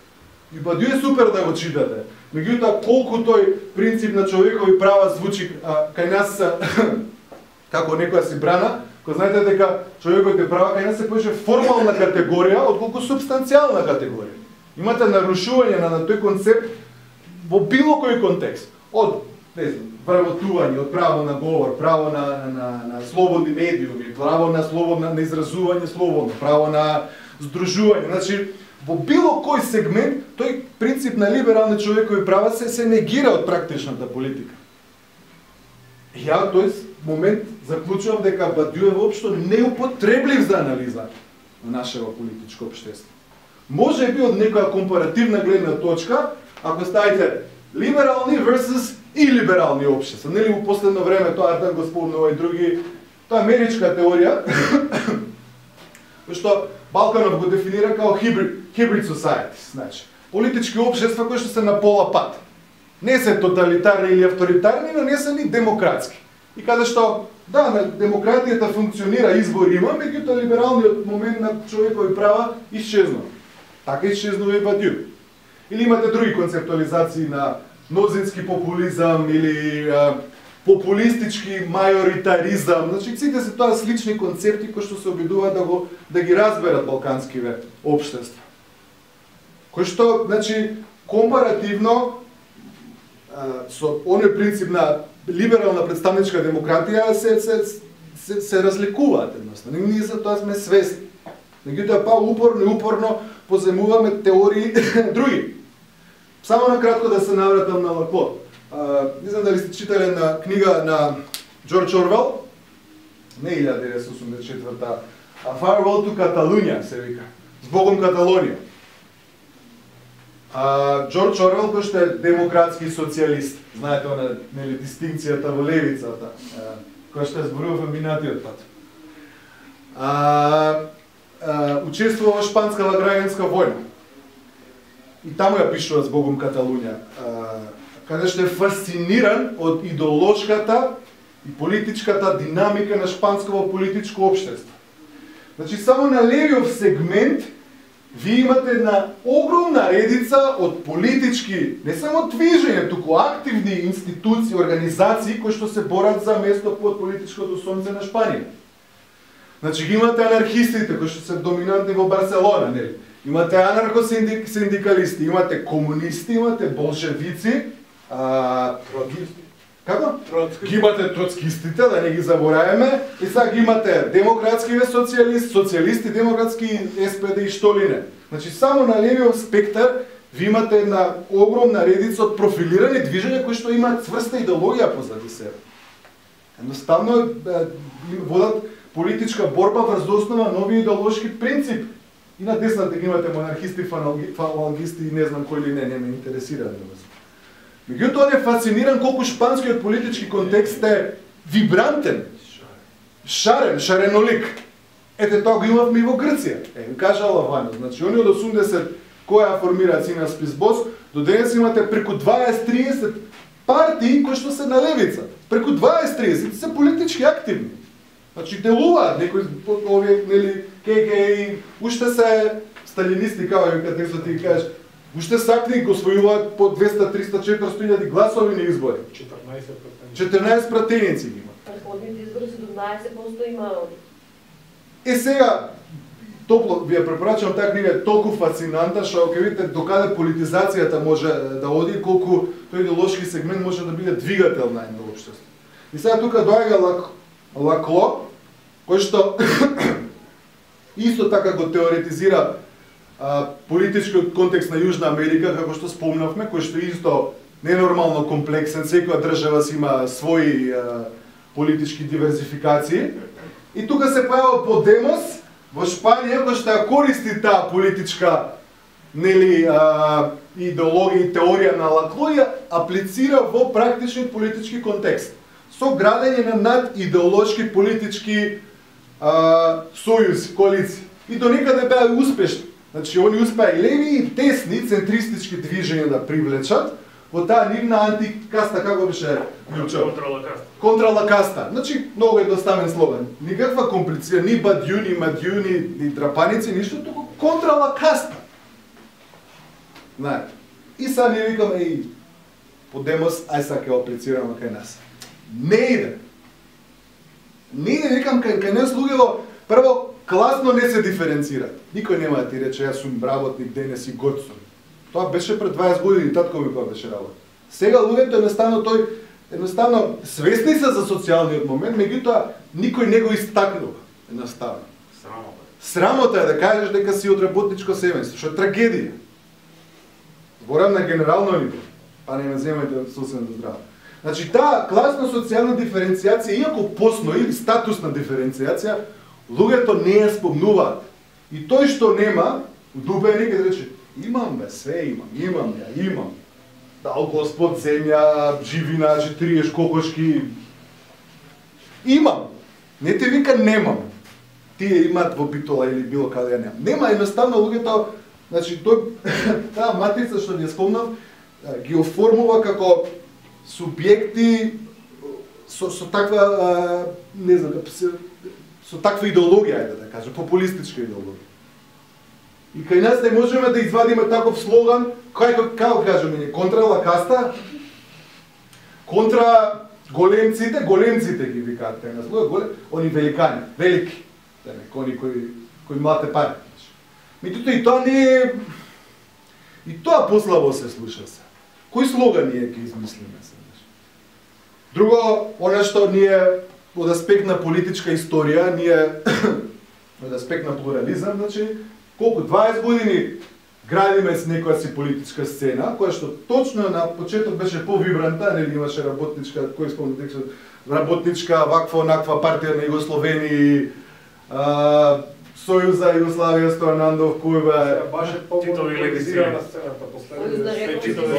И Бадиу е супер да го читате. Меѓутоа, колку тој принцип на човекови права звучи кај нас како некоја си брана, кој знаете дека човековите права кај нас се повеќе формална категорија отколку субстанцијална категорија. Имате нарушување на тој концепт во било кој контекст. Од, не знам, вработување, од право на говор, право на слободни медиуми, право на слободно на изразување слободно, право на здружување. Значи, во било кој сегмент, тој принцип на либерални човекови права се негира од практичната политика. Ја тој момент заклучувам дека Бадиу е воопшто неупотреблив за анализа на нашето политичко општество. Може би од некоја компаративна гледна точка, ако ставите либерални versus илиберални општества. Нели во последно време тоа Артан го спомнува и други, тоа е америчка теорија, што Балканов го дефинира како hybrid societies, значи политички општества кои што се на пола пат. Не се тоталитарни или авторитарни, но не се ни демократски. И каде што, да, демократијата функционира, избор има, меѓутоа либералниот момент на човекови права исчезнува. Така исчезнува и Бадиу. Или имате други концептуализации на мнозински популизам или популистички мајоритаризам. Значи, сите се тоа слични концепти кои што се обидуваат да ги разберат балканскиве општества. Кои што, значи, компаративно со оној принцип на либерална представничка демократија се разликуваат едноставно. Ние за тоа сме свесни. Меѓутоа па упорно поземуваме теории други. Само накратко да се навратам на Лакло. Не знам дали сте читале на книга на Джордж Орвел, не 1984, а Farewell to Catalunya се вика. Збогом Каталонија. Джордж Орвел, кој што е демократски социјалист, знаете она, нели, дистинкцијата во левицата, која што зборува во минатиот пат. Учествува во Шпанската граѓанска војна. И таму ја пишува Збогом Каталунја, каде што е фасциниран од идеолошката и политичката динамика на шпансково политичко општество. Значи, само на левиот сегмент ви имате една огромна редица од политички, не само движења, туку активни институции, организации кои што се борат за место под политичкото сонце на Шпанија. Значи, ги имате анархистите кои што се доминантни во Барселона, нели? Имате анархосиндикалисти, имате комунисти, имате болшевици, како? Ги имате троцкистите, да не ги забораваме, и сега ги имате демократскиве социјалисти, демократски СПД и што ли не. Значи, само на левиот спектар ви имате една огромна редица од профилирани движења кои што имаат цврста идеологија позади себе. Едноставно водат политичка борба врз основа нови идеолошки принципи. И на десната ги имате монархисти, фалангисти и не знам кој ли не ме интересира. Меѓутоа он е фасциниран колку шпанскиот политички контекст е вибрантен, шаренолик. Ете тоа го имавме и во Грција. Кажала Вањо, значи они од 80 која формираат сина Списбос, до денес имате преку 20-30 партии кои што се на левица. Преку 20-30 се политички активни. Значи делуваат некои овие, нели, ККИ, уште се сталинисти, како текстот ти кажеш, уште сакни го освојуваат по 200, 300, 400 гласови на избори. 14 пратеници ги има. Предходните избори се до 12% има. Сега, топло ви ја препорачувам таа книга, е толку фасцинантна што ќе видите докаде политизацијата може да оди, колку тој идеолошки сегмент може да биде двигател на едно општество. И сега тука доаѓа Лакло, кој што исто така го теоретизира политичкиот контекст на Јужна Америка, како што спомнавме, кој што исто ненормално комплексен, секоја држава си има своји политички диверзификации. И тука се појава Подемос во Шпанија, кој што ја користи таа политичка идеологија и теорија на Лакло и аплицира во практичен политички контекст, со градење на надидеолошки политички сојузи, коалиции. И до некаде беа успешни. Значи, они успеа и леви и десни центристички движења да привлечат во таа нивна антикаста, како беше клучот? Контралакаста. Значи, многу едноставен слоган. Никаква комплиција, ни бадју, ни мадју, ни драпаници, ништо, туку контралакаста. Знаете. И сега ние викаме и Подемос, ај сега ќе аплицираме кај нас. Не иде. Не иде, викам, кај нас луѓето, прво, класно не се диференцираат. Никој нема да ти рече, јас сум работник, денес и год сум. Тоа беше пред 20 години, татко ми кога беше работа. Сега луѓето едноставно свесни се за социјалниот момент, меѓутоа никој не го истакнува. Едноставно. Срамота е да кажеш дека си од работничко семејство, што е трагедија. Зборам на генерално ниво, па не ме земајте сосем до здраво. Значи, таа класна социјална диференцијација, иако постои, или статусна диференцијација, луѓето не ја спомнуваат. И тој што нема, дубе некаде рече, имам бе, све имам. Дал Господ земја, живина, 40 кокошки. Имам. Не те вика немам. Тие имаат во Битола или било каде ја немам. Нема, едноставно луѓето, значи таа матрица што ви ја спомнав, ги оформува како субјекти со таква, не знам, со таква идеологија, ајде да кажем, популистичка идеологија. И кај нас не можеме да извадиме таков слоган, како кажеме ние, контра лакаста, контра големците ги викаат кај нас, они великани, велики, они кои млате пари. Меѓутоа и тоа не е, и тоа послабо се слуша се. Кој слоган ние ќе измислиме се? Друго, она што ние од аспект на политичка историја, ние од аспект на плурализам, значи, колку 20 години градиме с некоја си политичка сцена, која што точно на почеток беше повибранта, нели имаше работничка, кој спомнете, работничка, ваква, онаква партија на Југословени, Сојуз за Југославија, Стојанандов, Кујба,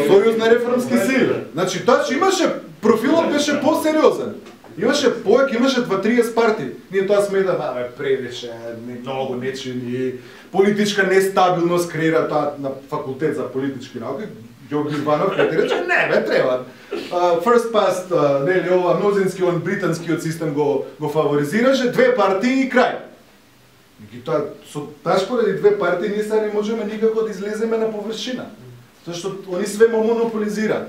Сојуз на реформски сили. Значи, тоа че имаше, профилот беше посериозен. Имаше повеќе, имаше 2-30 партии. Ние тоа сметаме, превише, многу нечини, политичка нестабилност креира тоа на факултет за политички науки. Ѓорги Иванов кај ти рече, не бе, треба. First past, нели, ова мнозински, он британскиот систем го фаворизираше, 2 партии и крај. Меѓутоа, со таш поради 2 партии ние сега не можеме никако да излеземе на површина. Зашто они све монополизираат.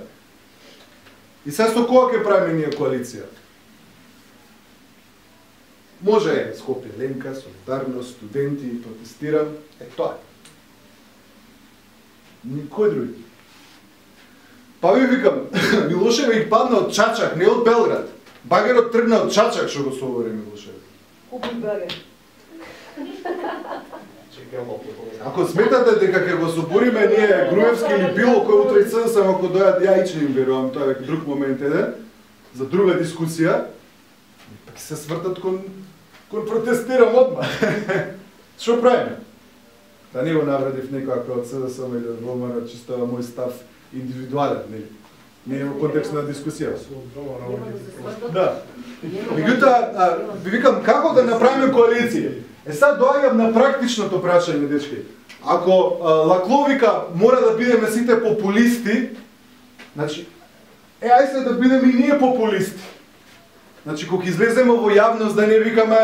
И сега со кога ќе правиме ние коалиција? Може Скопје, Ленка, Солидарност, студенти, протестирам, тоа е. Никој други. Па ви викам, Милошевиќ падна од Чачак, не од Белград. Багерот тргна од Чачак што го собори Милошевиќ. Купи багер. Ако сметате дека ќе го собориме ние Груевски или било кој утре СДСМ, ако дојат, ја иче им верувам, тоа е друг момент еден, за друга дискусија, ќе се свртат кон протестирам одма. Што правиме? Да не го навредив некоја од СДСМ или од ВМРО, чисто мој став индивидуален, нели? Не е во контекст на дискусија. Да. Меѓутоа, ви викам како да направиме коалиција. Сега доаѓам на практичното прашање, дечки. Ако Лакло вика мора да бидеме сите популисти, значи, ај се да бидеме и ние популисти. Значи, кога излеземе во јавност да не викаме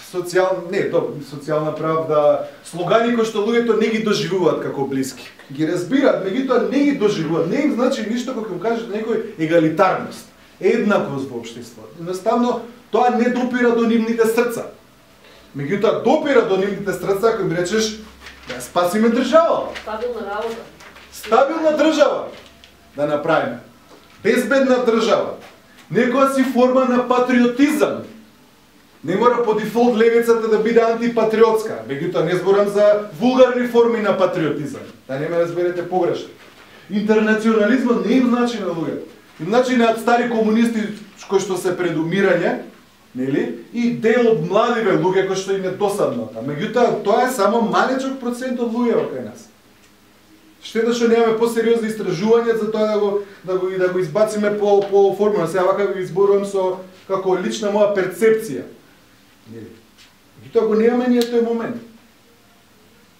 социјална правда, слогани кои што луѓето не ги доживуваат како блиски. Ги разбираат, меѓутоа не ги доживуваат. Не им значи ништо кога ќе кажат некој егалитарност, еднаквост во општеството. Едноставно, тоа не допира до нивните срца. Меѓутоа допира до нивните срца кога речеш да спасиме држава. Стабилна работа. Стабилна држава да направиме. Безбедна држава. Некоја си форма на патриотизам. Не мора по дефолт левицата да биде антипатриотска, меѓутоа не зборам за вулгарни форми на патриотизам. Да не ме разберете погрешно. Интернационализмот не им значи на луѓето. Им значи на стари комунисти кои што се пред умирање, нели? И дел од младиве луѓе кои што им е досадно. Меѓутоа тоа е само малечок процент од луѓето кај нас. Штета што немаме посериозни истражувања за тоа да го избациме по формула. Сега вака ви изборувам со како лична моја перцепција. Меѓутоа го немаме ние тој момент.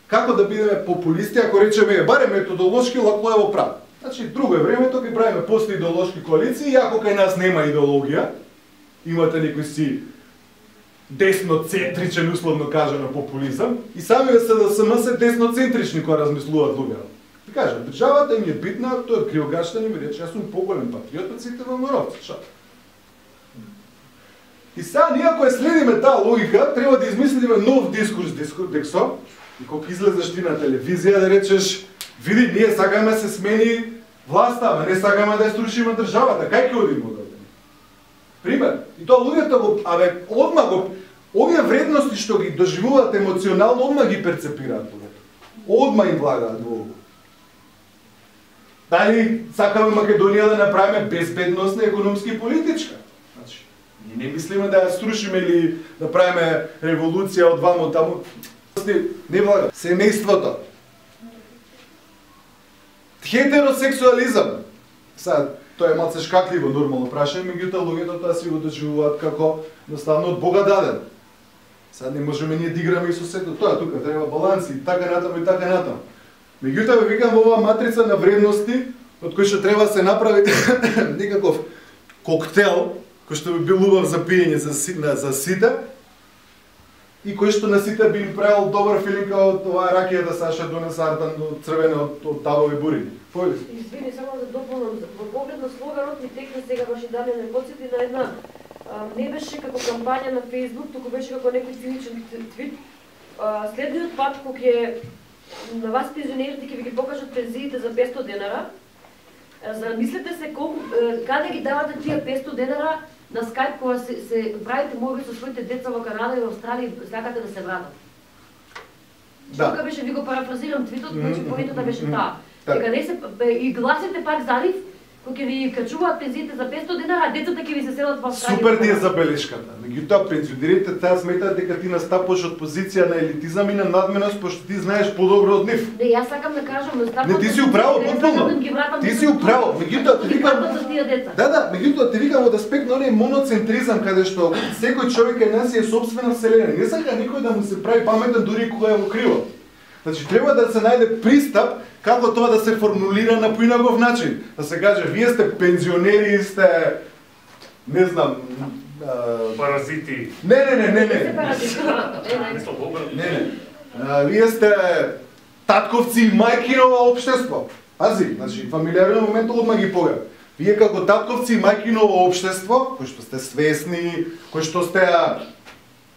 Како да бидеме популисти ако речеме барем методолошки Лаклоево право. Значи друго е времето кога правиме после идеолошки коалиции, иако кај нас нема идеологија, имате некој си десноцентричен условно кажано популизам и самите СДСМ се десноцентрични кога размислуваат луѓето. И кажа, државата им е битна, тој кривогашта ми рече, јас сум поголем патриот од сите ВМРО-вци, шо? И сега ние ако следиме таа логика, треба да измислиме нов дискурс, Дексо, и кога излезеш ти на телевизија да речеш, види, ние сакаме се смени власта, ама не сакаме да ја струшиме државата, кај ќе одиме одавде? Пример, и тоа луѓето го, одма го, овие вредности што ги доживуваат емоционално, одма ги перцепираат луѓето. Одма им влагаат во ово. Дали сакаме Македонија да направиме безбедностна, економски и политичка? Значи, ние не мислиме да ја струшиме или да правиме револуција од вамо таму. Не влага. Семејството. Хетеросексуализам. Сега, тоа е малце шкакливо нормално прашање, меѓутоа луѓето тоа си го доживуваат како едноставно од Бога даден. Сега не можеме ние да играме и со сето тоа, тука треба баланси, така натаму и така натаму. Меѓутоа ве викам во оваа матрица на вредности, од кој што треба да се направи некаков коктел, кој што би бил убав за пиење за сите, и кој што на сите би им правил добар филинг од оваа ракија да Саша донесе артан до црвена од табови бурини. Појди. Извини, само да дополнам, во поглед на слоганот ми текна сега баш и Дамјан ме потсети на една не беше како кампања на Facebook, туку беше како некој циничен твит. Следниот пат кога на вас пензионерите ќе ви ги покажат пензиите за 500 денара, замислете се колку каде ги давате тие 500 денара на Skype кога се правите молби со своите деца во Канада и во Австралија и сакате да се вратат. Да. Тука беше, ви го парафразирам твитот, значи поентата беше таа. Дека не се и гласите пак за нив, кога ќе ви качуваат пензиите за 500 денара, а децата ќе ви се селат во Австралија. Супер ти е забелешката. Меѓутоа пензионерите таа сметаат дека ти настапуваш од позиција на елитизам и на надменост, пошто ти знаеш подобро од нив. Не, јас сакам да кажам, не, ти си управо, потполно. Ти си управо. Меѓутоа ти викам Да, меѓутоа ти викам од аспект на оној моноцентризам каде што секој човек кај нас е собствена вселена. Не сака никој да му се прави паметен дури кога е во криво. Значи треба да се најде пристап како тоа да се формулира на поинаков начин. Да се каже, вие сте пензионери, сте не знам, паразити. Не. Вие сте татковци и мајки на ова општество. Пази, значи фамилиарен момент одма ги поја. Вие како татковци и мајки на ова општество, кои што сте свесни, кои што сте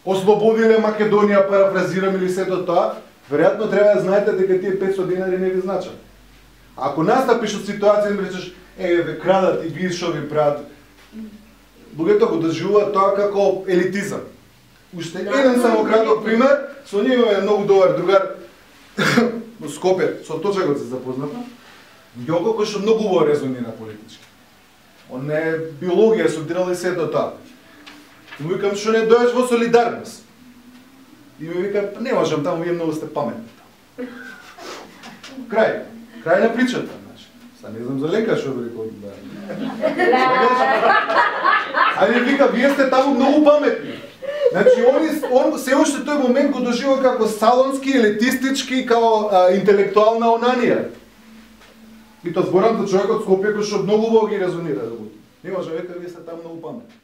ослободиле Македонија, парафразирам или сето тоа, веројатно треба да знаете дека тие 500 денари не ви значат. Ако настапиш од ситуација и речеш, ве крадат и видиш што ви прават, луѓето го доживуваат тоа како елитизам. Уште еден само краток пример, со него имаме многу добар другар во Скопје, со Точагот се запознавме. Јоко кој што многу убаво резонира политички. Он е биологија, студирал и сето тоа. Му викам, што не дојдеш во солидарност? И ми вика, не можам, таму вие многу сте паметни. Крај на причата, значи. Са не знам за Ленка што би рекол да. А ми вика, вие сте таму многу паметни. Значи, он се уште тој момент го доживува како салонски, елитистички, како интелектуална онанија. И тоа зборам за човек од Скопје кој што многу убаво ги резонира. Не може, века, вие сте таму многу паметни.